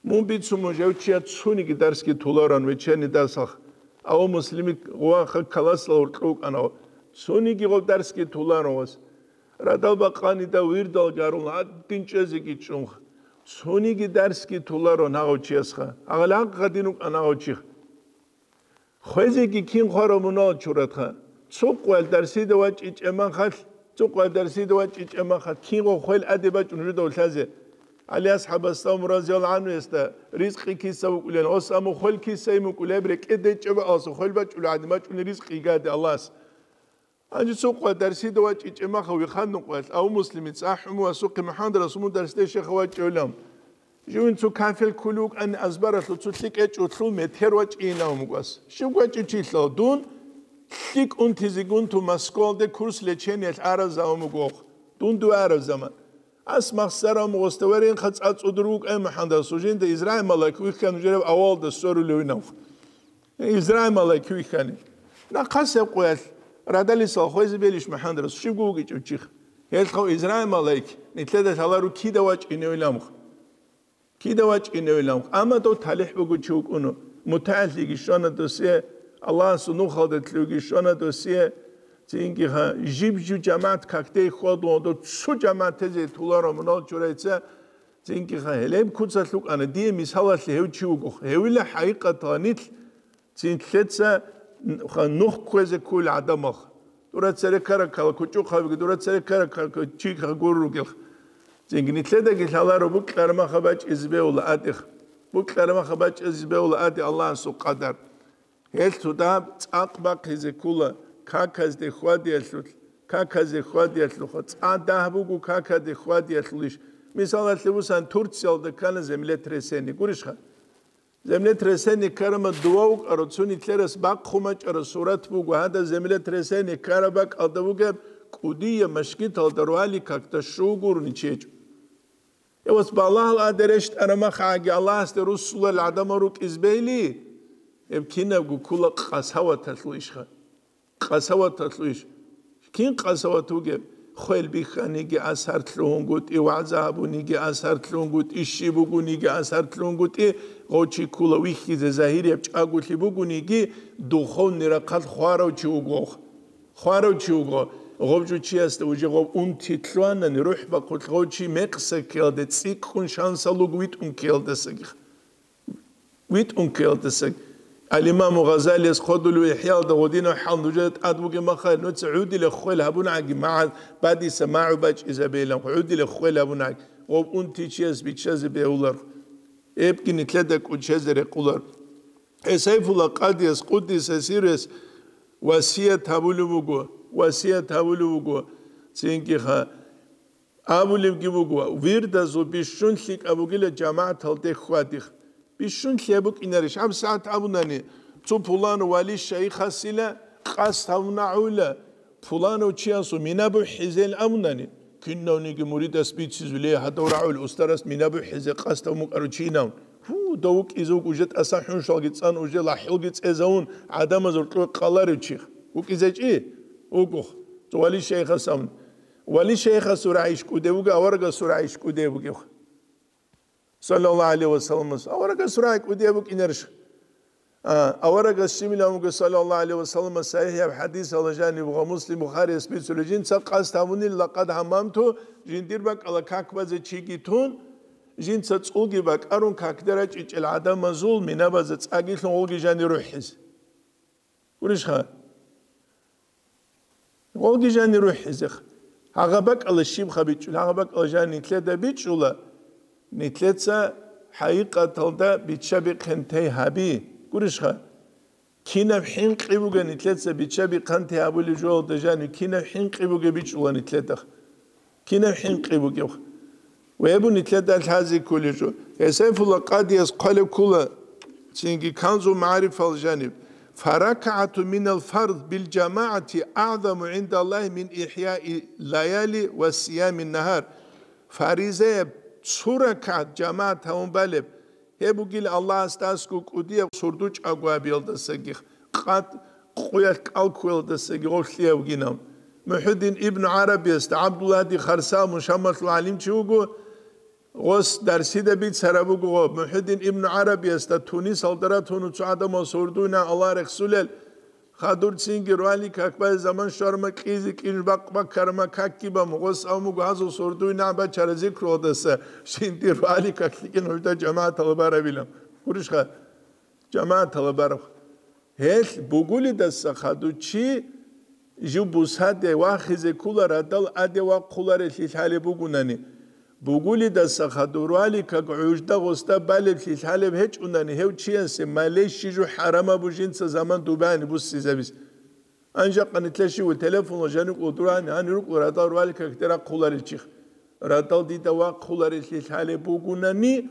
Мун бицун мун жав чияд цуниги дарсги туларан вечерний дарсах. Ав Муслими гъваха каласла уркьукӀана. Цуниги гъов дарсги туларан вас. Радал бакъанида вирдал гарун гьадин чӀезеги чӀунх. Цуниги дарсги туларо нагъав чиясха. Агълагъ гъадин рукӀа нагъав чих. Хвезеги кин хварав мунал чуратха. Цукъвал дарсида вачӀичӀемахалъ, цукъвал дарсида вачӀичӀемахалъ, кинго хвел аде бачӀун жудав лъазе. ГӀали асхӀабасда, Умар разияллагьу гӀанхуясда, ризкъи киса вукӀулел, ос аму хвел киса имукӀулеб, рекӀеде чӀеба алса хвел бачӀулев гӀадин бачӀуни ризкъи гьигаде Аллагьас. Гьанже цукъва дарсида вачӀичӀе махав вихъан нукъвалъ, ав Муслимица, ахӀуму асухъе МухӀаммад Расул мун дарсде шеха вачӀевлъам. Живин цо кафел ккулев вукӀани азбаралъур цо лъикӀечӀулъул метер вачӀинав мукӀвас. Щив вачӀичилъал дун лъикӀ унтизегун ту Москвалде курс лечениялъ араб заман бугохъ. Дун дуе араб заман. Ас махсарав мугъоста веренха цӀацӀудур вукӀай МухӀаммад Расул, жинда Израил малайк вихьан жирав авалда сорулевинав. Израил малайк вихьани. Нахъасеб къоялъ радалисал хвезе белищ МухӀаммад Расул, щибго вугичӀев чиха. Гьелъго Израил малайк, нилъеда лъалару кида вачӀиневиламха. Кида вачӀиневилан, амма дов талихӀ бугев чи вукӀуна, мутагӀиллъиги щвана досие, Аллагьасул нухалда лъуги щвана досие, цинги ха, жиб-жиб жамагӀат какде хьвадун, дов цо жамагӀат тезе туларо мунал чурайца, цинги ха, гьелеб куцалъ вукӀана, дие мисалалъе гьев чи вуго, гьевила хӀакъикъаталда нилъ, Цинлъеца нух кквезе ккола гӀадамалха. Дура цере ккараккала кучӀухъабиги, дура цере ккараккала чи гурругелха. Цинги нилъедаги лъаларо букьармаха бачӀизе бегьула атӀеха. Букьармаха бачӀизе бегьула атӀе Аллагьасул къадар. Гьелъ цо дагьаб цӀакъ бахъизе ккола каказде хьвадиялъулъ, каказде хьвадиялъулха. ЦӀа дагь буго какаде хьвадиялъулищ. Мисалалъе бусан, Турциялда ккана землетрясение. Гурищха? Землетрясение ккарама дова вукӀаро, цо нилъерас бахъун бачӀараб сурат буго, гьадаб землетрясение ккараб бакӀалда бугеб кӀудияб машгиталда рвали какда щугурни чечӀо. Эвас балагьал адерештӀараб махагӀаги Аллагьасде руссулел гӀадамал рукӀиз бейли, гьеб кинабго ккола къасаваталъул ишха. Къасаваталъул иш. Кин къасават вугеб? Хвел бихьаниги асарлъунгутӀи, вагӀза гьабуниги асарлъунгутӀи, щиб бугониги асарлъунгутӀи, гъов чи ккола вихьизе загьирияб чӀаголъи бугониги, духовный рахъалъ хварав чи вуго. Хварав чи вуго. Гъов жо чиясда уже гъов унти лъугьанани, рухӀ бахъулъ гъов чи мекъса ккелде цӀикӀкӀун шансалуг витӀун ккелдасаги. ВитӀун ккелдаса. Ал-Имаму Гъазалияс хъодулев ИхӀяалда гъодинав хӀал нужеда тӀад бугеб махал, нуца гӀудиле хвел гьабунаги, магӀан бадиса магӀу бачӀизабейилан, гӀудиле хвел гьабунаги, гъоб унти чияс биччазе бегьулар. Эбги нилъеда кӀучезе рекъулар. Гьесайфула къадияс, къуддиса сиррес, васият гьабулев вуго, васият гьабулев вуго, цинги ха, Абулебги буго, вирдазул бищун лъикӀаб бугила жамагӀаталде хьвадихъ. Бищун лъикӀаб букӀинарищ? ГьабсагӀат абунани, цо пуланав вали шайихасила къасд гьавунагӀула, пуланав чиясул мина бухӀизел абунани, кинавниги муридас бицизулей гьадав рагӀул устарас мина бухӀизе къасд гьавун букӀарав чинав. Гьу, дов вукӀизе вуго уже тӀаса хӀуншалги цӀан, уже лахӀилги цӀезавун, гӀадамазул кьур къаларев чихъ. ВукӀизечӀи? Вугох. Цо вали шайихас абун. Вали шайихасул рагӀи иш кӀудеб буго, аварагасул рагӀи иш кӀудеб бугеб? Саллаллагьу гӀалайгьи ва салламас. Аварагасул рагӀи кӀудеб букӀинарищ? А, аварагас щибилан вуго, саллаллагьу гӀалайгьи ва салламас, сахӀихӀаб хӀадисалда жаниб ва Муслим, Бухарияс бицулеб, жинца къасд гьабунила, лакъад гьаммамту, жиндир бакӀалда как базе чиги тун, жинца цӀулги бакӀарун какде рачӀичӀел гӀадамазул минабазда цӀагилъун гъолги жани рухӀизе. Гурищха? Гъолги жани рухӀизех. Гьагъа бакӀалда щибха бичӀчӀула, гьагъа бакӀалда жани нилъеда бичӀчӀула, нилъеца хӀакъикъаталда бичча-бихъинтей гьаби. Гурищха? Кинаб хӀинкъи бугеб нилъеца бичча-бихъинтей гьабулеб жоялда жани, кинаб хӀинкъи бугеб бичӀчӀула нилъеда. Кинаб хӀинкъи бугеб? Ва гьеб нилъеда лъазе кколеб жо. Гьесайфула къадияс хъвалеб ккола, цинги Канзул магӀарифал жаниб: «ФаракагӀату минал фард бил жамагӀати агӀзаму гӀиндаллагьи мин ихӀяи лаяли ва сиями нагьар». Фаризаяб цо ракагӀат жамагӀат гьавун балеб, гьеб бугила Аллагьасда аскӀов кӀудияб сурду чӀагоабиялдасаги, къат къуялъ кӀал ккуялдасаги гъов лъиявгинав. МухӀуддин ибну ГӀарабиясда, ГӀабдуллагьди Харсал, Мушаммалъул гӀалимчи вуго, гъос дарсида бицараб буго гъоб. МухӀуддин ибну ГӀарабиясда Тунисалда ратуна цо гӀадамал сурдуйна Аллагь рехсулел, Хадур цинги рвали как бай заман щварма кьизе кӀин бакъ баккарма какги бам гъос амуго гьазул сурдуй нагӀ бачара зикругъдаса, жинди рвали как лъикӀин гьужда жамагӀатала барабилан. Гурищха? ЖамагӀатала бараб. Гьелъ бугулидаса хадур чи жив бусаде вахизе ккола радал аде вахъуларелъи лъалеб бугунани. Бугулидаса хадур рвали как гӀужда гъосда балеблъи лъалеб гьечӀунани гьев чиясе малей щижу хӀарамабу жинца заман дубани буссизабиз. Анжакъа нилъа щиву телефонла жаникъула дурани гьани рукӀу радал рвали какде рахъуларел чихъ. Радал дида вахъуларелъи лъалеб бугунани,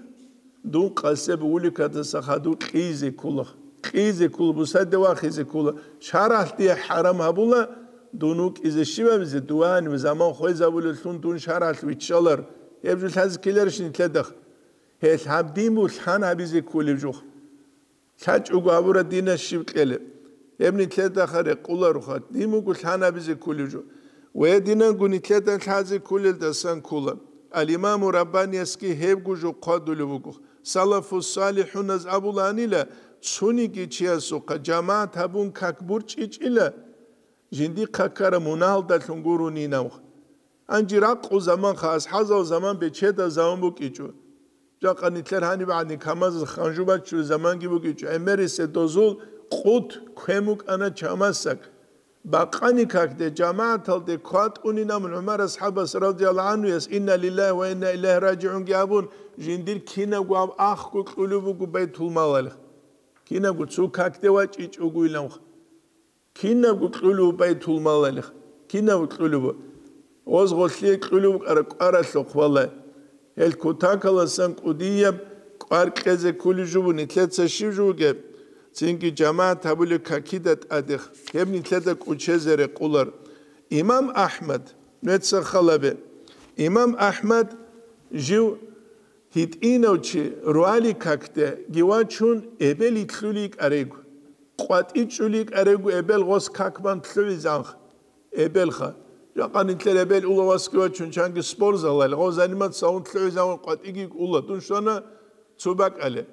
дун къасеб уликатаса хадур кьизе ккула. Кьизе ккула, бусаде вахизе ккула. Шаргьалъ дие хӀарам гьабула, дун вукӀизе щибабизе, дувани заман хвезабулеллъун дун шаргьалъ виччалар. Гьеб жо лъазе ккеларищ нилъеда? Гьелъ гьаб дин буго лъан гьабизе кколеб жо. ЛъачӀого гьабураб динас щиб кьелеб? Гьеб нилъеда рекъолароха, дин буго лъан гьабизе кколеб жо. Ва гьединанго нилъеда лъазе кколелдасан ккола. Ал-Имаму Раббаниясги гьебго жо хъвадулев вуго. Салафу-салихӀуназ абуланила, цониги чиясухъа жамагӀат гьабун как борчӀичӀила, жиндихъа ккараб мунагьалдалъун гуронин абун. Гьанже ракъу заманха, асхӀабзал заман бечедал заман букӀичӀо. Жакъа нилъер гьаниб гӀадин камазаз ханжу баччулел заманги букӀичӀо. ГӀемерисел дозул къут квен букӀана чамасаг. Бакъани какде, жамагӀаталде кватӀунин абун ГӀумар асхӀабас радияллагьу гӀанхуяс, «Инна лиллагьи ва инна илайгьи ражигӀунги» абун, жиндир кинабго гьаб ахго кьулеб буго байтулмалалихъ. Кинабго цо какде вачӀичӀогойилан. Кинабго кьулеб байтулмалалихъ. Кинабго кьулеб. Гъоз гъолъие кьулеб кӀара-, кӀваралъухъ, валлагь. Гьел кутакаласан кӀудияб кӀвар кьезе кколеб жо буго, нилъеца щиб жо бугеб? Цинги жамагӀат гьабулеб какида тӀадехъ, гьеб нилъеда кӀочезе рекъолар. Имам АхӀмад, нуеца халабе. Имам АхӀмад жив гьитӀинав чи руали какде гьевачун эбел итлъули кӀарего, къватӀи чӀули кӀарего эбел гъос как бан лъугӀизанха. Эбелха. Жакъа нилъер эбел улавасги вачун чанги спортзалалъ, гъов заниматься гьавун лъугӀизавун къватӀиги ула, дун щвана цо бакӀалде.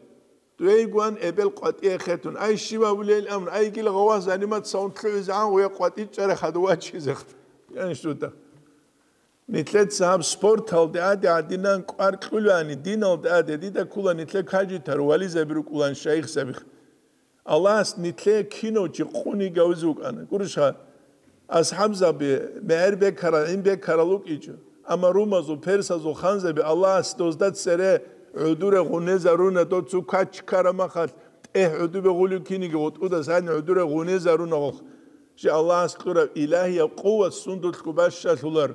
Дугьейгун эбел къватӀие хетун. Ай, щиб абулейил амру, ай, гила гъавас заниматься гьавун лъугӀизавун гъуя къватӀи чӀарахъад вачизе. Яни что-то. Нилъеца гьаб спорталде аде гӀадинан кӀвар кьулани, диналде аде, дида ккола нилъер каджитар, вализаби рукӀулан, шайихзаби. Аллагьас нилъее кинав чи къуни гавизе вукӀана. Гурищха, асхӀабзаби мегӀер бекарал, гӀин бекарал вукӀичӀо, амма румазул, персазул ханзаби Аллагьас дозда цере гӀодоре гъунезаруна, дов цо кач ккараб махалъ тӀехь гӀодобе гъулев киниги гъутӀудас гьанив гӀодоре гъунезаруна гъохъ. Жи Аллагьас кьураб илагьияб къуват сундулъго бащалъулар.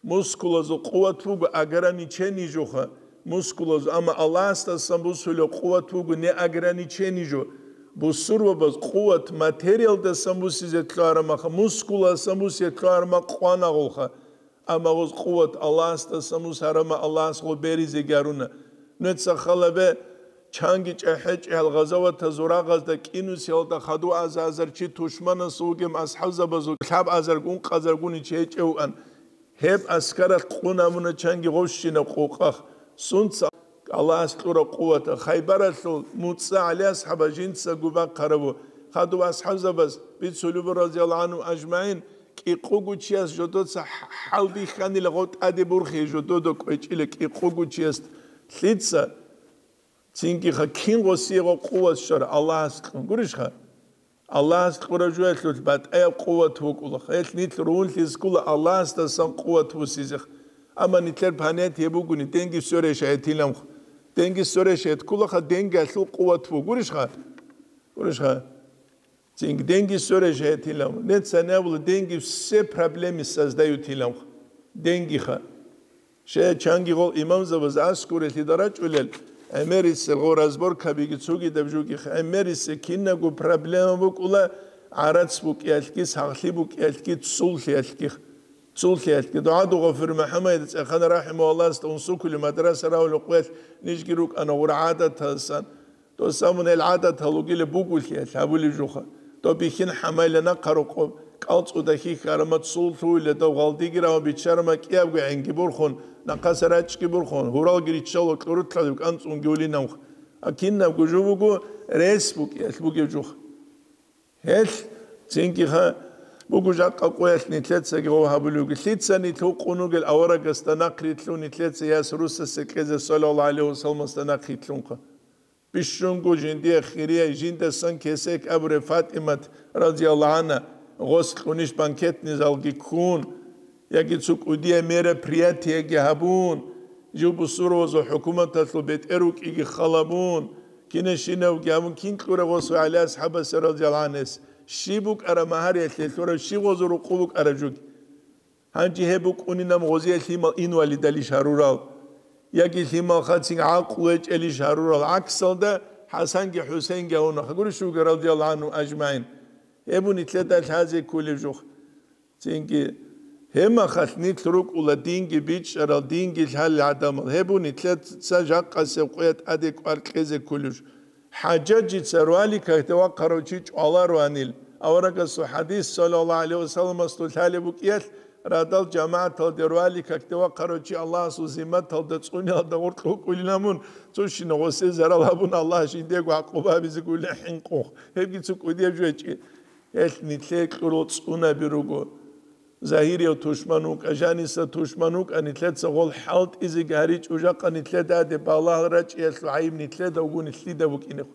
Мускулазул къуват буго ограничение жоха, мускулазул, амма Аллагьасдасан бусулеб къуват буго неограничение жо. Бусурбабаз къуват материалдасан бусизе лъугьараб маха, мускуласан бусизе лъугьараб ма къванагъулха. Амма гъоз къуват Аллагьасдасан бусараб ма Аллагьас гъо беризе гаруна. Нуеца халабе, чанги чӀахӀи-чӀегьал гъазаватазул рагъазда кӀинусиялда хадув аза-азар чи тушманас вугеб асхӀабзабазул лъабазаргун, къазаргун чи гьечӀеван. Гьеб аскаралъ къун абуна чанги гъовщинаб къукъах. Сунца Аллагьас кьураб къувата Хайбаралъул муцӀа ГӀали асхӀаба жинцаго бахъарабу. Хадуб асхӀабзабаз бицулебу, разияллагьу гӀанхум ажмагӀин, кӀикъуго чияс жодоца хӀалбихьанила гъов тӀаде бурхи жододо кӀвечӀила кӀикъуго чияс. Лъица? Цинги-ха кин гъосие гъо къуват щвара Аллагьас кьун. Гурищха? Аллагьас кьураб жоялъулъ батӀаяб къуват вукӀула. Гьелъ нилъ ругьунлъизе ккола Аллагьасдасан къуват бусизех. Амма нилъер понятие бугони, денги все решает иламха. Денги все решает кколаха, денги алъул къуват бугурищха? Гурищха? Цинги денги все решает иламха. Нецани абула, денги все проблемы создают иламха. Денгиха. Щай чанги гъол имамзабаз аскӀоре лъида рачӀулел, гӀемерисел гъо разборкабиги цогидаб жугихъ, гӀемерисел кинабго проблема букӀула, гӀарац букӀиялъги, сагълъи букӀиялъги, цуллъиялъги. Цуллъиялъги. ДугӀаду Гъафур МухӀаммад цӀехана рахӀимагьуллагьасда унсукули мадраса рагьулел къоялъ нижги рукӀана гъура гӀадаталсан. Дос абун гьел гӀадатал ругила бугулъиялъ гьабулеб жуха. Дов бихьин хӀамайла нахъа рокъоб, кӀалцӀуда хьихьарама цул лъугьула, дов гъалдиги рагьун биччарама кӀиябго гӀенги бурхун, нахъаса рачӀги бурхун, гьуралги риччала кьурулъадив кӀанцӀунги улинавх. А кинабго жо буго рес букӀиялъ бугеб жуха. Гьелъ цинги-ха буго жакъа къоялъ нилъецаги гъов гьабулевги. Лъица нилъ гьукъун ругел аварагасда нахърилълъун, нилъеца яс русасе кьезе, саллаллагьу гӀалайгьи вассалламасда нахърилълъунха. Бищунго жиндие хирияй, жиндасан кесек абуреб ФатӀимат, разияллагьу гӀанхӀа, гъос кьунищ банкетный залги ккун, яги цо кӀудияй мероприятиеги гьабун, жив бусурбабазул хӀукуматалъул бетӀер вукӀиги халабун, кинашинавги гьабун, кин кьура гъос ва ГӀали асхӀабасе, разияллагьу гӀанхӀес? Щиб букӀара магьариялъе лъурав, щиб гъозул рукъу букӀара жуги? Гьанже гьеб букӀунинаб гъозие лъимал инвалидалищ гьарурал, яги лъимал хацин гӀакълу гьечӀелищ гьарурал, гӀаксалда ХӀасанги ХӀусейнги гьавунаха, гурищ вуго, радияллагьу гӀанхум ажмагӀин. Гьеб нилъеда лъазе кколеб жух. Цинги Гьебмахалъ нилъ рукӀула динги бичӀчӀарал, динги лъалел гӀадамал. Гьеб буго нилъеца жакъасеб къоялъ тӀаде кӀвар кьезе кколеб жо. ХӀажжаджица роликалде вахъарав чи чӀвалароанил, аварагасул хӀадис, саллаллагьу гӀалайгьи вассаламасул, лъалеб букӀиялъ, радал жамагӀаталде роликалде вахъарав чи Аллагьасул зимматалда цӀуниялда гъоркье вукӀунилан мун, цо щинаб гъосе зарал гьабун, Аллагь жиндиего гӀакъуба гьабизе гурони хӀинкъун. Гьебги цо кӀудияб жо гьечӀищ. Гьелъ нилъее кьурал цӀунаби руго. Загьирияв тушман вукӀа, жаниса тушман вукӀа, нилъеца гъол хӀалтӀизеги гьаричӀо, жакъа нилъеда тӀаде балагьал рачӀиялъул гӀайиб нилъеда вугони лъида букӀинехъ,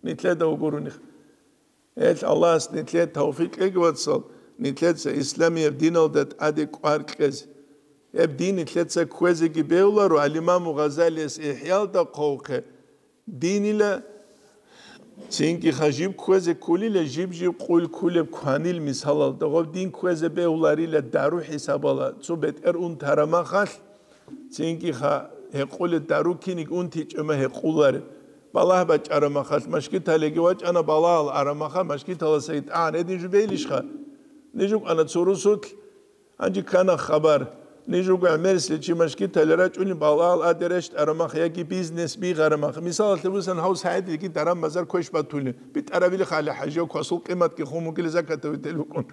нилъеда вугоронихъ. Гьелъ Аллагьас нилъее тавфикъ кьеги, вацал, нилъеца исламияб диналда тӀаде кӀвар кьезе. Гьеб дин нилъеца кквезеги бегьуларо, ал-Имаму Гъазалияс ИхӀялда хъвавухъе, динила, цинги ха жиб кквезе кколила, жиб-жиб къул кколеб кванил мисалалда, гъоб дин кквезе бегьуларила дару хӀисабала, цо бетӀер унтараб махалъ, цинги ха гьекъолеб дару киниг унтичӀеб ма гьекъолареб. Балагь бачӀараб махалъ, машгиталиги вачӀана, балагьал араб махалъ, машгиталасаги тӀагӀан гьедин жубейилищха? Ниж рукӀана цо русулъ, Гьанже ккана хабар. Ниж руго гӀемерисел чи машгиталде рачӀунел, балагьал тӀаде рещтӀараб махалъ яги бизнес бигьараб махалъ. Мисалалъе босани, гьав СагӀидилги даран-базар квеш батулин. БитӀарабилихъ гьале, хӀажияв квасул къиматги хун бугила, закатав вител вукӀун.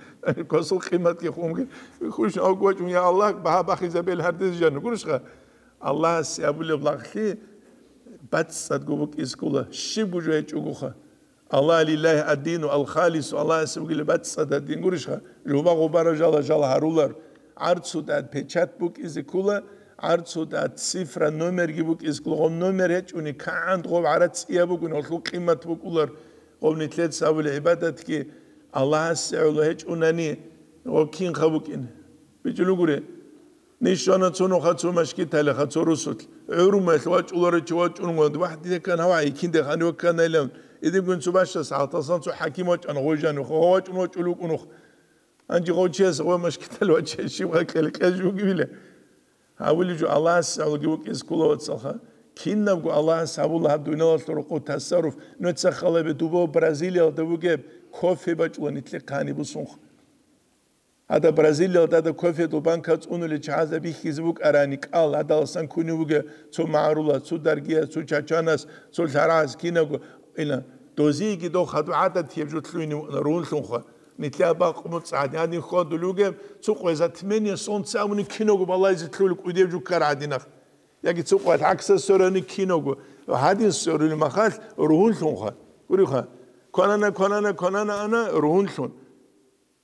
Квасул къиматги хун бугила. Хушни авги вачӀун, я Аллагь, багьа бахизабел гьардез жану гурищха? Аллагьасе абулеб лагълъи бацӀцӀадго букӀизе ккола, щибго жо гьечӀогоха. Аллагь, лиллагьи ад-дину ал-халису, Аллагьасе бугила бацӀцӀадаб дин гурищха? Жуба-гъубара жала-жала гьарулар. ГӀарцуда печать букӀизе ккола, гӀарцуда цифра, номерги букӀизе ккола. Гъоб номер гьечӀони, кагӀан гъоб гӀарац цӀияб бугони, гъолъул къимат букӀулар. Гъоб нилъеца абула гӀибадатги Аллагьасе гӀоло гьечӀунани, гъоб кинха букӀин? БичӀчӀулугури. Ниж щвана цо нуха цо машгиталиха цо русулъ. ГӀурумалъ вачӀуларев чи вачӀунгун, вагь, дида ккан гьав гьайкинде ханив кканайлан. Идигун цо бащас гьалтасан цо хӀаким вачӀана, гъой жанив, гъов вачӀун вачӀулев вукӀунухъ. Гьанже гъов чияс гъой машгитал вачӀай щиб гъай кьел-кьел жугивила. Гьавулев жо Аллагьас гӀолги вукӀизе ккола, вацалха. Кинабго Аллагьас гьабула гьаб дуниялалъул рокъов тасарруф, нуца халабе дубав Бразилиялда вугеб кофе бачӀула нилъехъ гьаниб бусунха. Гьадаб Бразилиялда гьадаб кофедул банка цӀунулел чагӀазда бихьизе букӀарани кӀал, гьадаласан кунев вугев цо магӀарулас, цо даргияс, цо чачанас, цо лъарагӀас кинабго, ина, дозиеги дов хадуб гӀадатияб жо лъугьине вукӀана, ругьунлъунха. Нилъеда бакъ муцӀ гӀадин хьвадулев вугев, цо къвезатмение солнце абуни кинабго балайзе лъугьулеб кӀудияб жо ккар гӀадинах. Яги цо къвалъ гӀаксас сверани кинабго, гьадин сверулеб махалъ ругьунлъунха. Гуриха, кванана, кванана, кванана ана ругьунлъун.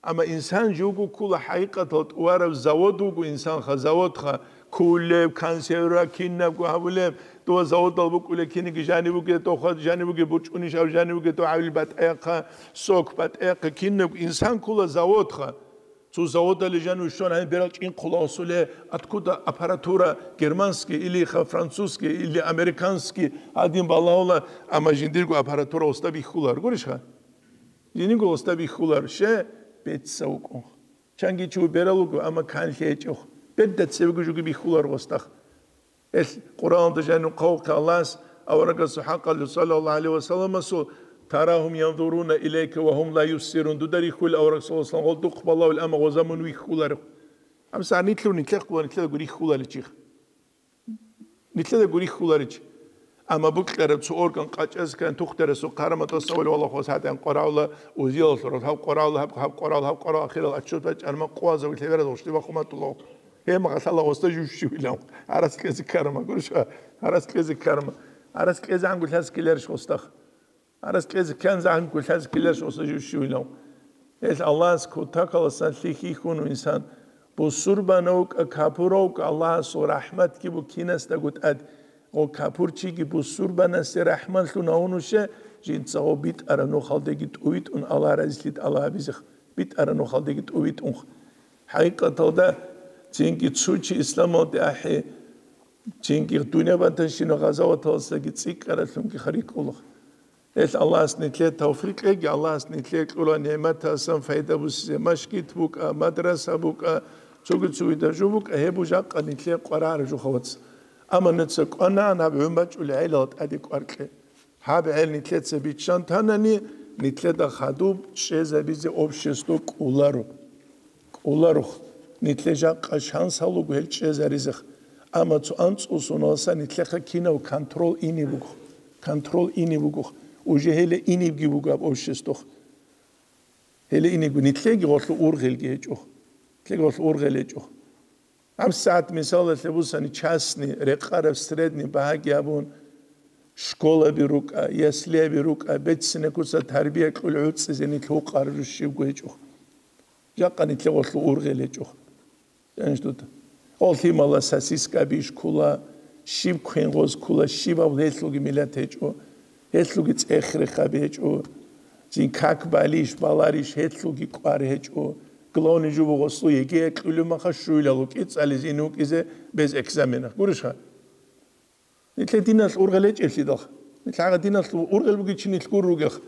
Амма инсан живго ккола хӀакъикъатал тӀувараб завод вуго инсанха, заводха, кколеб, консервра, кинабго гьабулеб, дова заводал букӀулеб, кинеги жаниб бугеб, дохъа жаниб бугеб, бурчӀунищ аб жаниб бугеб, догӀавил батӀаяхъа, сок батӀаяхъа, кинабго инсан ккола заводха. Цо заводале жанив щван гьаниб берал чӀинхъула гъосуле, откуда аппаратура германский или ха французский или американский гьадин балагьула, амма жиндирго аппаратура гъосда бихьулар, гурищха? Жиндирго гъосда бихьулар, ще бецав вукӀун. Чанги чи берал вуго, амма канлъи гьечӀо. Берда цевего жуги бихьулар гъосда. Гьелъ Къуръаналда жанив хъавухъе Аллагьас аварагасул хӀакъалъулъ, саллаллагьу гӀалайгьи ва салламасул: «Тарагьум янзуруна илайка ва гьум ла юбсирун», дуда рихьулел авараг, саллаллагьу гӀалайгьи ва саллам, гъол духъ балагьулел, амма гъоза мун вихьуларев. Амма нилъер нилъехъ бугеб нилъеда гурихь хьуларичи. Нилъеда гурихь хьуларичи. Амма букьараб цо орган къачӀазе ккани тухтарасул хъараматӀа савали валахъас гьатӀан къварагӀула, узиялъул гьаб къварагӀула, гьаб, гьаб къварагӀула, гьаб къварагӀула, ахирал отчёт бачӀарма къвазавулъе вераз гъушлиба хъуматӀула. Гьеб махалъала гъосда жущи вилан. Гьарас кьезе ккарма, гурищха? Гьарас кьезе ккарма. Гьарас кьезе гӀанго лъаз ккеларищ гъосда? Гьарас кьезе ккан загьанго лъаз ккеларищ гъосда жущи вилан? Гьелъ Аллагьас кутакаласан лъихьихьун инсан. Бусурбанав вукӀа, капурав вукӀа, Аллагьасул рахӀматги буго кинасдаго тӀад. Гъо капурчиги бусурбанасе рахӀматлъун гьавун вуше, жинца гъо битӀараб нухалдеги тӀувитӀун Аллагь разилъи тӀалаб гьабизех. БитӀараб нухалдеги тӀувитӀунха. ХӀакъикъаталда, цинги цо чи исламалде ахӀи, цинги дунъя батанщинаб гъазаваталдасаги цӀикӀкӀаралъунги рикӀкӀула. Гьелъ Аллагьас нилъее тавфикъ кьеги, Аллагьас нилъее кьурал нигӀматасан пайда бусизе, машгит букӀа, мадраса букӀа, цоги-цоги дажу букӀа, гьеб жакъа нилъее къварагӀараб жо, вацал. Амма нуца кӀванагӀан гьаб гӀун бачӀулел гӀелал тӀаде кӀвар кье. Гьаб гӀел нилъеца биччан танани, нилъеда хадуб чӀезабизе общество кӀоларо. КӀоларухъ. Нилъе жакъа шанс гьалуго гьел чӀезаризех. Амма цо анцӀу соналъа нилъехъа кинав контрол ине буго. Контрол ине буго. Уже гьеле инебги буго гьаб обществохъ. Гьеле инего нилъеги гъолъу ургъелги гьечӀо. Нилъеги гъолъу ургъел гьечӀо. ГьабсагӀат мисалалъе бусани частный, рекъараб средний багьаги гьабун, школаби рукӀа, яслиаби рукӀа, беццина куца тарбия кьул гӀуцӀизе нилъ гьукъараб жо щибго гьечӀо. Жакъа нилъе гъолъу ургъел гьечӀо. Гьанж дуда. Гъол лъимала сосискаби иш ккола, щиб квен гъоз ккола, щибаб гьелъулги миллат гьечӀо, гьелъулги цӀех-рехаб гьечӀо, цин как балищ, баларищ, гьелъулги кӀвар гьечӀо. Главный жубу гъослу ЕГЭ кьулев маха щуйлал вукӀи цӀализе ин вукӀизе без экзаменах. Гурищха? Нилъе диналъ ургъел гьечӀеблъидал. Нилъ гьагъа диналъ ургъел бугев чи нилъ гур ругелха.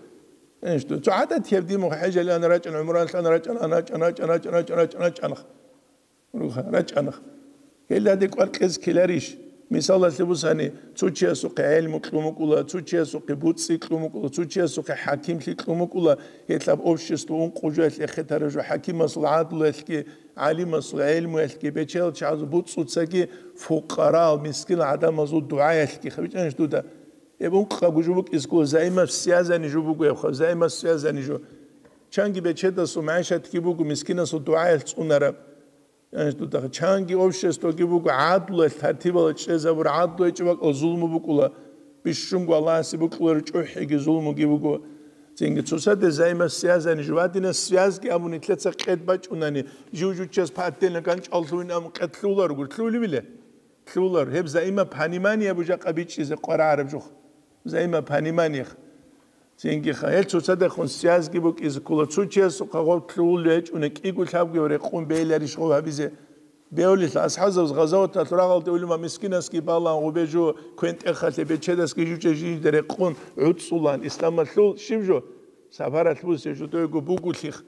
Гьанж ду. Цо гӀадатияб димуха хӀежалъе ана рачӀана, гӀумраялъе ана рачӀана, ана рачӀана, рачӀана, рачӀана, рачӀана, рачӀана. Руха, рачӀана. Гьелда декӀвар кьез ккеларищ? Мисалалъе бусани, цо чиясухъе гӀелму кьун букӀула, цо чиясухъе буцӀцӀи кьун букӀула, цо чиясухъе хӀакимлъи кьун букӀула, гьелъаб общество ункъо жоялъ эхетараб жо хӀакимасул гӀадлуялъги, гӀалимасул гӀелмуялъги, бечедал чагӀазул буцӀцӀуцаги, фукъарал, мискин гӀадамазул дугӀаялъги, хабичӀанищ дуда? Гьеб ункъабго жо букӀиз ккола, взаимосвязанный жо буго гьебха, взаимосвязанный жо. Чанги бечедасул магӀишатги буго, мискинасул дугӀаялъ цӀунараб. Гьанж дуда чанги обществоги буго, гӀадлуялъ тартибала чӀезабур, гӀадлу гьечӀеб бакӀал зулму букӀула, бищунго Аллагьасе букӀуларо чӀухӀиги зулмуги буго. Цинги цоцаде взаимосвязанный жо, ва дина связги абун нилъеца къед бачӀунани, жив-жуччас по отдельно ганчӀал лъугьин абун къед лъугьуларо гур, лъугьулебила? Лъугьуларо. Гьеб взаимопонимание абу жакъа бичӀчӀизе къварагӀараб жух. Взаимопонимание. Цинги ха, гьел цоцадехун связги букӀизе ккола, цо чиясухъа гъоб лъугьулев гьечӀони, кӀиго лъабгояв рекъон бейиларищ гъов гьабизе? Беулел асхӀабзабаз гъазаваталъ рагъалде улема мискинасги балан, гъубе жо квен-тӀехалъе бечедасги жучӀа жинда рекъон гӀуцӀулан, исламалъул щиб жо? Сапаралъ бусе жо дойго бугулъих.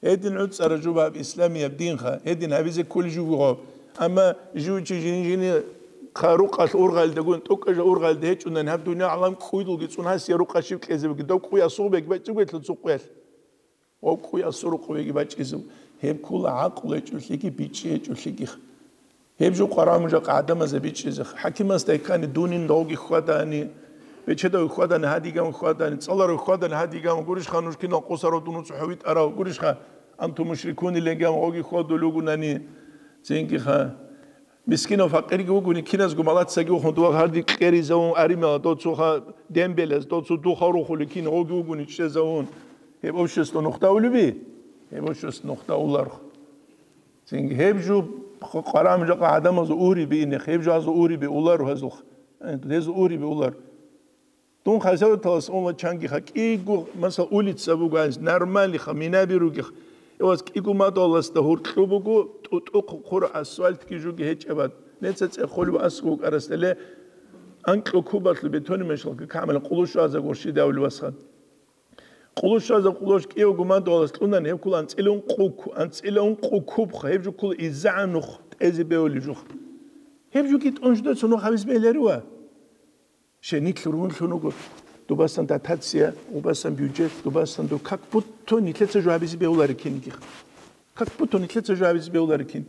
Гьедин гӀуцӀара жубаб исламияб динха, гьедин гьабизе кколей жугу гъаб. Амма жив чи жин-жини хъа рукъалъ ургъалдагун, тӀокӀаб жо ургъалда гьечӀунани гьаб дунъя гӀалам кӀуйдулги цӀун гьасия рукъа щиб кьезе буги, дов кӀуй асугъ беги бачӀчӀугелъул цукъуялъ. Гъов кӀуй асу рукъ беги бачӀчӀизев. Гьеб ккола гӀакълу гьечӀолъиги, бичӀчӀи гьечӀолъигих. Гьеб жо къварагӀун жакъа гӀадамазда бичӀчӀизе. ХӀакимасда ккани дунин довги хьвадани, бечедав хьвадани, гьадиган хьвадани, цӀаларав хьвадани, гьадиган, гурищха нуж кинал къосарав дун цохӀо витӀарав, гурищха, антум мушрикуни леган гъоги хьвадулугунани, цинги ха. Мискинав факъирги вугуни, киназго малацаги ухун дова гьарди кьеризавун, аримала доцуха дембелаз, доцу духа рухули кин гъоги вугуни чӀезавун. Гьеб общество нухда улеби? Гьеб общество нухда уларх. Цинги гьеб жо къварагӀун жакъа гӀадамазул угьриби инехъ, гьеб жо гьазул угьриби улар гьазулх, гьезул угьриби улар. Дун хасаваталас унла чанги ха кӀиго, масал, улица буго гьанз, нормальный ха, минаби ругих. Эваз кӀиго мадугьаласда гьуркьу буго, тӀутӀухъ хъур асфальтги жуги гьечӀебад. Неца цӀехолеб асхъ вукӀарасдале, анкьу кубалъу бетони мешалги камала къулуш ваза горщидавли васхан. Къулуш щвазаб къулуш кӀиявго мадугьалас кьунани, гьеб ккола анцӀила ункъу ку-, анцӀила ункъу кубха, гьеб жо ккола иззагӀан нух тӀезе бевулеб жух. Гьеб жо кӀитӀун жидеца нух гьабиз бегьларива? Щай нилъ рунлъун руго, дубасан дотация, убасан бюджет, дубасан ду-, как будто нилъеца жо гьабизе бегьулари кинигих. Как будто нилъеца жо гьабизе бегьулари кин.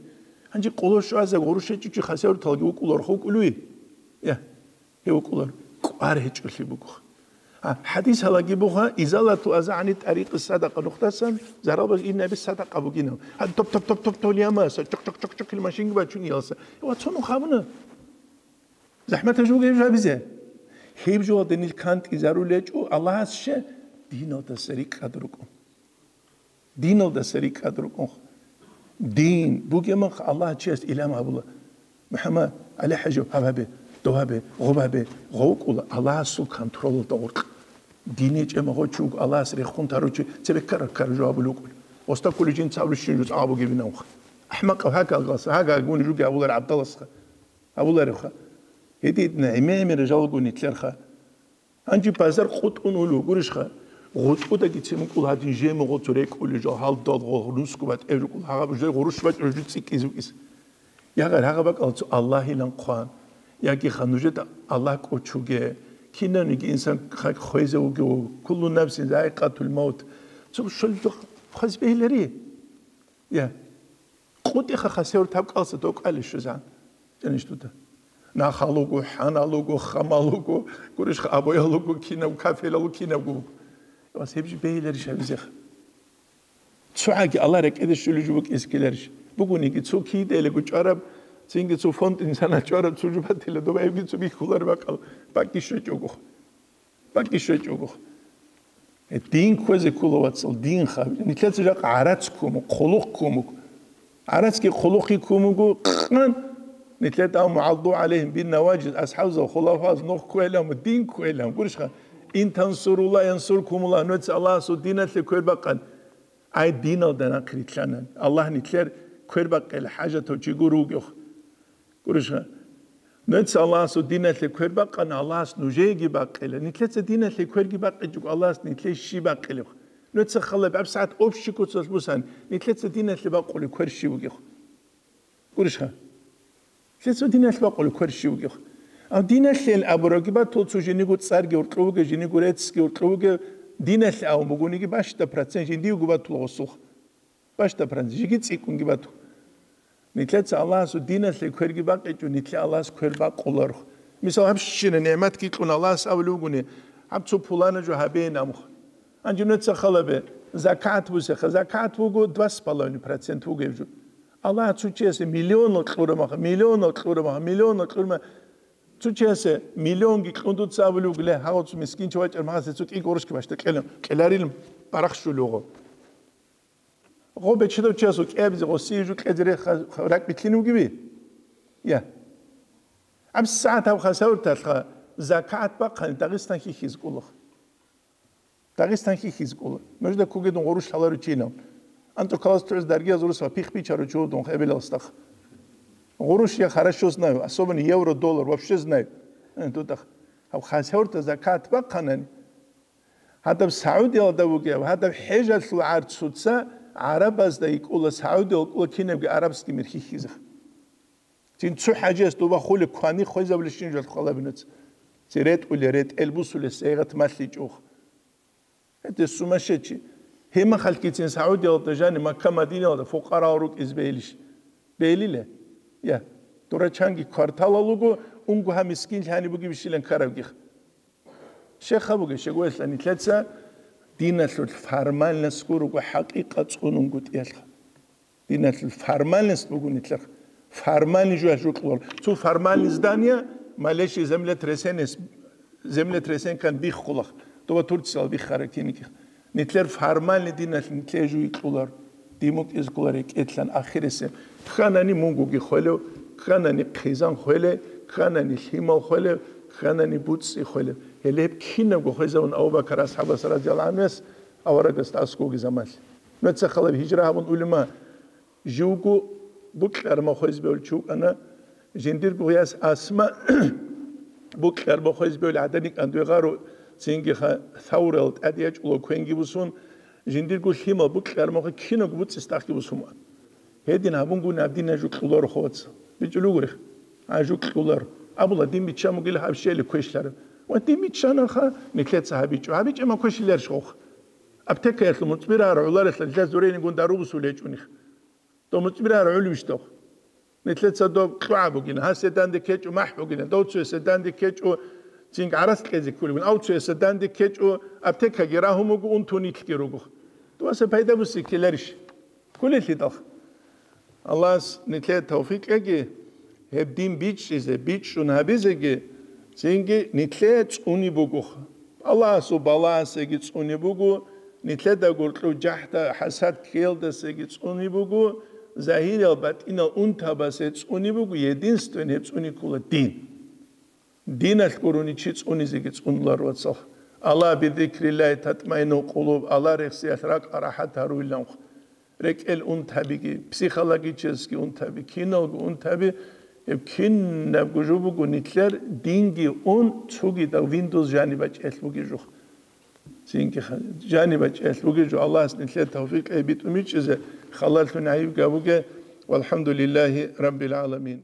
Гьанже къулуш щвазаб гъурущ гьечӀичӀи хасавруталги вукӀуларха вукӀулуй? Я. Гьев вукӀулар кӀвар гьечӀолъи буго. А, хӀадис гьалаги буго, изалату аза гӀани тӀарикъи садакъа нухдасан, заралбаз ин наби садакъа бугинав. А, топ, топ, топ, топ, топ, ямаса, чок, чок, чок, чок, ил машинги бачун иялса. Ва цо нух гьабуна. ЗахӀмат гьабизе. Гьеб жо гьабизе. Гьеб жо гьадинил кантӀи зарулечӀо, Аллагьас ще диналдаса рикӀкӀад рукӀун. Диналдаса рикӀкӀад рукӀунха. Дин бугебмахъ Аллагь чияс илам гьабула. МухӀаммад, ГӀали-хӀажи, гьаб гьабе, дов гьабе, гъоб гьабе, гъов вукӀула Аллагьасул контролалда гъоркь. Дин гьечӀеб магъо чи вуго Аллагьас рехун тарав чи, цебе ккара-ккара жо гьабулев вукӀула. Оста кколей жин цавлу щин жо цӀа гьабугебинавха. АхӀмакъав гьакӀалгъаса, гьагагуни жуги гьабулар гӀабдаласха. Гьабуларевха. Гьедин гӀемер-гӀемер жалго нилъерха. Гьанже базар къутӀун улев гурищха, гъутӀудаги цемукӀул гьадин жемугъо цо рекӀулел жо, гьалдал гъо, нусго батӀев жукӀул, гьагъаб жо гъурущ бачӀун жо цӀикӀкӀизе вукӀис. Ягъар гьагъа бакӀал цо Аллагьилан хъван, яги ха нужеда Аллагь кӀочуге, кинавниги инсан ха хвезе вугев, куллу нафсин заикъатул маут. Цо шул жо хвез бегьилари. Я. къутӀиха хасевр таб кӀалса докӀали щвезан. Жаниш дуда. Нахал вуго, хӀанал вуго, хамал вуго, гурищха абоял вуго, кинав кафелал вуго, кинавго вуго. Вас гьеб жо бегьиларищ гьабизеха? Цо гьаги Аллагь рекӀеде щулеб жо букӀизе ккеларищ? Бугониги цо кидаялего чӀвараб, цинги цо фонд инсанал чӀвараб цо жо батила, доба гьебги цо бихьулареб бакӀал бакӀги щвечӀого. БакӀги щвечӀого. Э, дин кквезе ккола, вацал, дин хаб. Нилъеца жакъа гӀарац ккун, хъулухъ ккун. ГӀарацги хъулухъги ккун буго, къан. Нилъеда аму гӀалду гӀалейхим бин наважиз, асхӀабзал, хулафаз нух кквелам, дин кквелам. Гурищха, ин тансурулла янсуркумулла, нуца Аллагьасул диналъе квер бакъан. Ай, диналда нахърилълъана. Аллагь нилъер квер бакъел хӀажатав чи гур вугев. Гурищха, нуца Аллагьасул диналъе квер бакъана, Аллагьас нужееги бакъила. Нилъеца диналъе кверги бакъичӀого, Аллагьас нилъее щиб бакъилеб? Нуца халаб гьабсагӀат общий куцалъ бусан, нилъеца диналъе бакъулеб квер щиб бугеб? Гурищха? Нилъеца диналъе бакъулеб квер щиб бугеб? А диналъе абурабги батула, цо жиниго цӀарги гьоркьов вугев, жиниго реццги гьоркьов вугев, диналъе абун бугониги, бащда процент жиндиего батула гъосулха. Бащда процент, жиги цӀикӀкӀунги бату. Нилъеца Аллагьасул диналъе кверги бакъичӀо, нилъе Аллагьас квер бакъуларо. Мисал, гьабщина нигӀматги кьун Аллагьас абулев вугони, гьаб цо пулана жо гьабейин амуха. Гьанже нуца халабе, закат бусеха, закат вуго два с половиной процент вугев жо. Аллагь цо чиясе миллионал кьурамаха, миллионал кьурамаха, миллионал кьурма. Цо чиясе миллионги кьун дуца абулев вугеле, гьав цо мискинчи вачӀар магьасе цо кӀи гъурущги бащда кьела, кьеларил барахщулев гъо. Гъо бечедав чиясул кӀиабизе гъосие жо кьезе рехха ракӀ битлъин вугеви? Я. ГьабсагӀат гьаб хасавурталъха закат бахъани Дагъистан хьихьизе кӀолаха. Дагъистан хьихьизе кӀола. Нужда кугедун гъурущ лъаларучинав. АнцӀукалас тугӀиз даргияз урус ва пихъ бичарав чи вугев дун эбелалсдахъ. Гъурущ я хорошо знаю, особенно евро, доллар, вообще знаю. Э, тутахъ. Гьаб хасавурта закат бахъанани, гьадаб Саудиялда вугев, гьадаб хӀежалъул гӀарцуца гӀарабазда йикӀула, Саудиялда кӀула кинабги арабский мир хьихьизеха. Цин цо хӀажияс доба хулеб квани хвезабулищин жал хвалабинац. Ци ретӀуле, ретӀел бусулес, гӀегъат малъичӀого. ГьетӀе сумасшедший. Гьемахалъгицин Саудиялда жани Макка-Мадиналда фукъарал рукӀиз бейилищ? Бейилиле? Я. Дурачанги кварталал руго, унго гьа мискин лъани бугебищилан ккарабгих. Щеха бугеб, щегоялъа нилъеца диналъул формальностго руго, хӀакъикъат цӀунунгутӀиялъха. Диналъул формальность буго нилъер. Формальный жуялъ жукьулар. Цо формальный здание, малейшее землетрясение, землетрясениекан биххулах. Доба Турциялъ биххараб кинигих. Нилъер формальный диналъ нилъее жуй кьулар. Димукь изкулар рекӀелъан ахиресе. Кканани мунгуги хвелев, кканани хъизан хвеле, кканани лъимал хвелев, кканани буцӀцӀи хвелев. Гьеле гьеб кинабго хвезавун Абу Бакар асхӀабас радияллагьу гӀанхуяс аварагасда аскӀовги замалъ. Нуца халаб гьижра гьабун улема, живго букьарма хвезбевлъи вукӀана, жиндирго гъияс Асма букьарма хвезбевлъи гӀаданикӀан дугӀаро, цинги ха-, Саврал тӀаде ячӀула квенги бусун, жиндирго лъимал букьармаха кинабго буцӀцӀис тахги бусун. Гьедин гьабунгуни гьаб дин гьажу кьуларо, ховаца. БичӀулугурих? Гьажу кьуларо. Абула, дин биччан бугила гьаб щели квешлъараб. Ва дин биччанаха, нилъеца гьабичӀо. ГьабичӀама квешлъиларищ хъухъ? Аптекаялъул муцӀбирагьар гӀоларелъа нилъер зуренигун дару бусул гьечӀоних. Дов муцӀбирагьар гӀолевищ дов? Нилъеца дов кьугӀа бугина, гьасе данде ккечӀо махӀ бугина, дов цоясе данде ккечӀо цинги гӀарац кьезе кколеб бугин, ав цоясе данде ккечӀо аптекаги рагьун буго, унтун нилъги руго. Доваса пайда буси ккеларищ? Кколелъидал. Аллагьас нилъее тавфикъ кьеги, гьеб дин бичӀчӀизе, бичӀчӀун гьабизеги, цинги нилъее цӀуни буго. Аллагьасул балагьасеги цӀуни буго, нилъеда гуркьув жахӀда хӀасад ккеялдасеги цӀуни буго, загьириял батӀинал унтабасе цӀуни буго, единственный гьеб цӀуни ккола дин. Диналъ гурони чи цӀунизеги цӀунулар, вацал. Ала бизикриллагьи татмаиннул къулуб, Аллагь рехсиялъ ракӀ рахӀат гьаруйиланхъ. РекӀел унтабиги, психологический унтаби, киналго унтаби, гьеб кинабго жо буго нилъер динги ун цогидал Windows жаниб бачӀиялъ бугеб жо. Цинги ха-, жаниб бачӀиялъ бугеб жо. Аллагьас нилъер тавфикъ гьеб битӀун бичӀчӀизе, халалъун гӀайиб гьабуге. Валхамдулиллагьи раббил гӀаламин.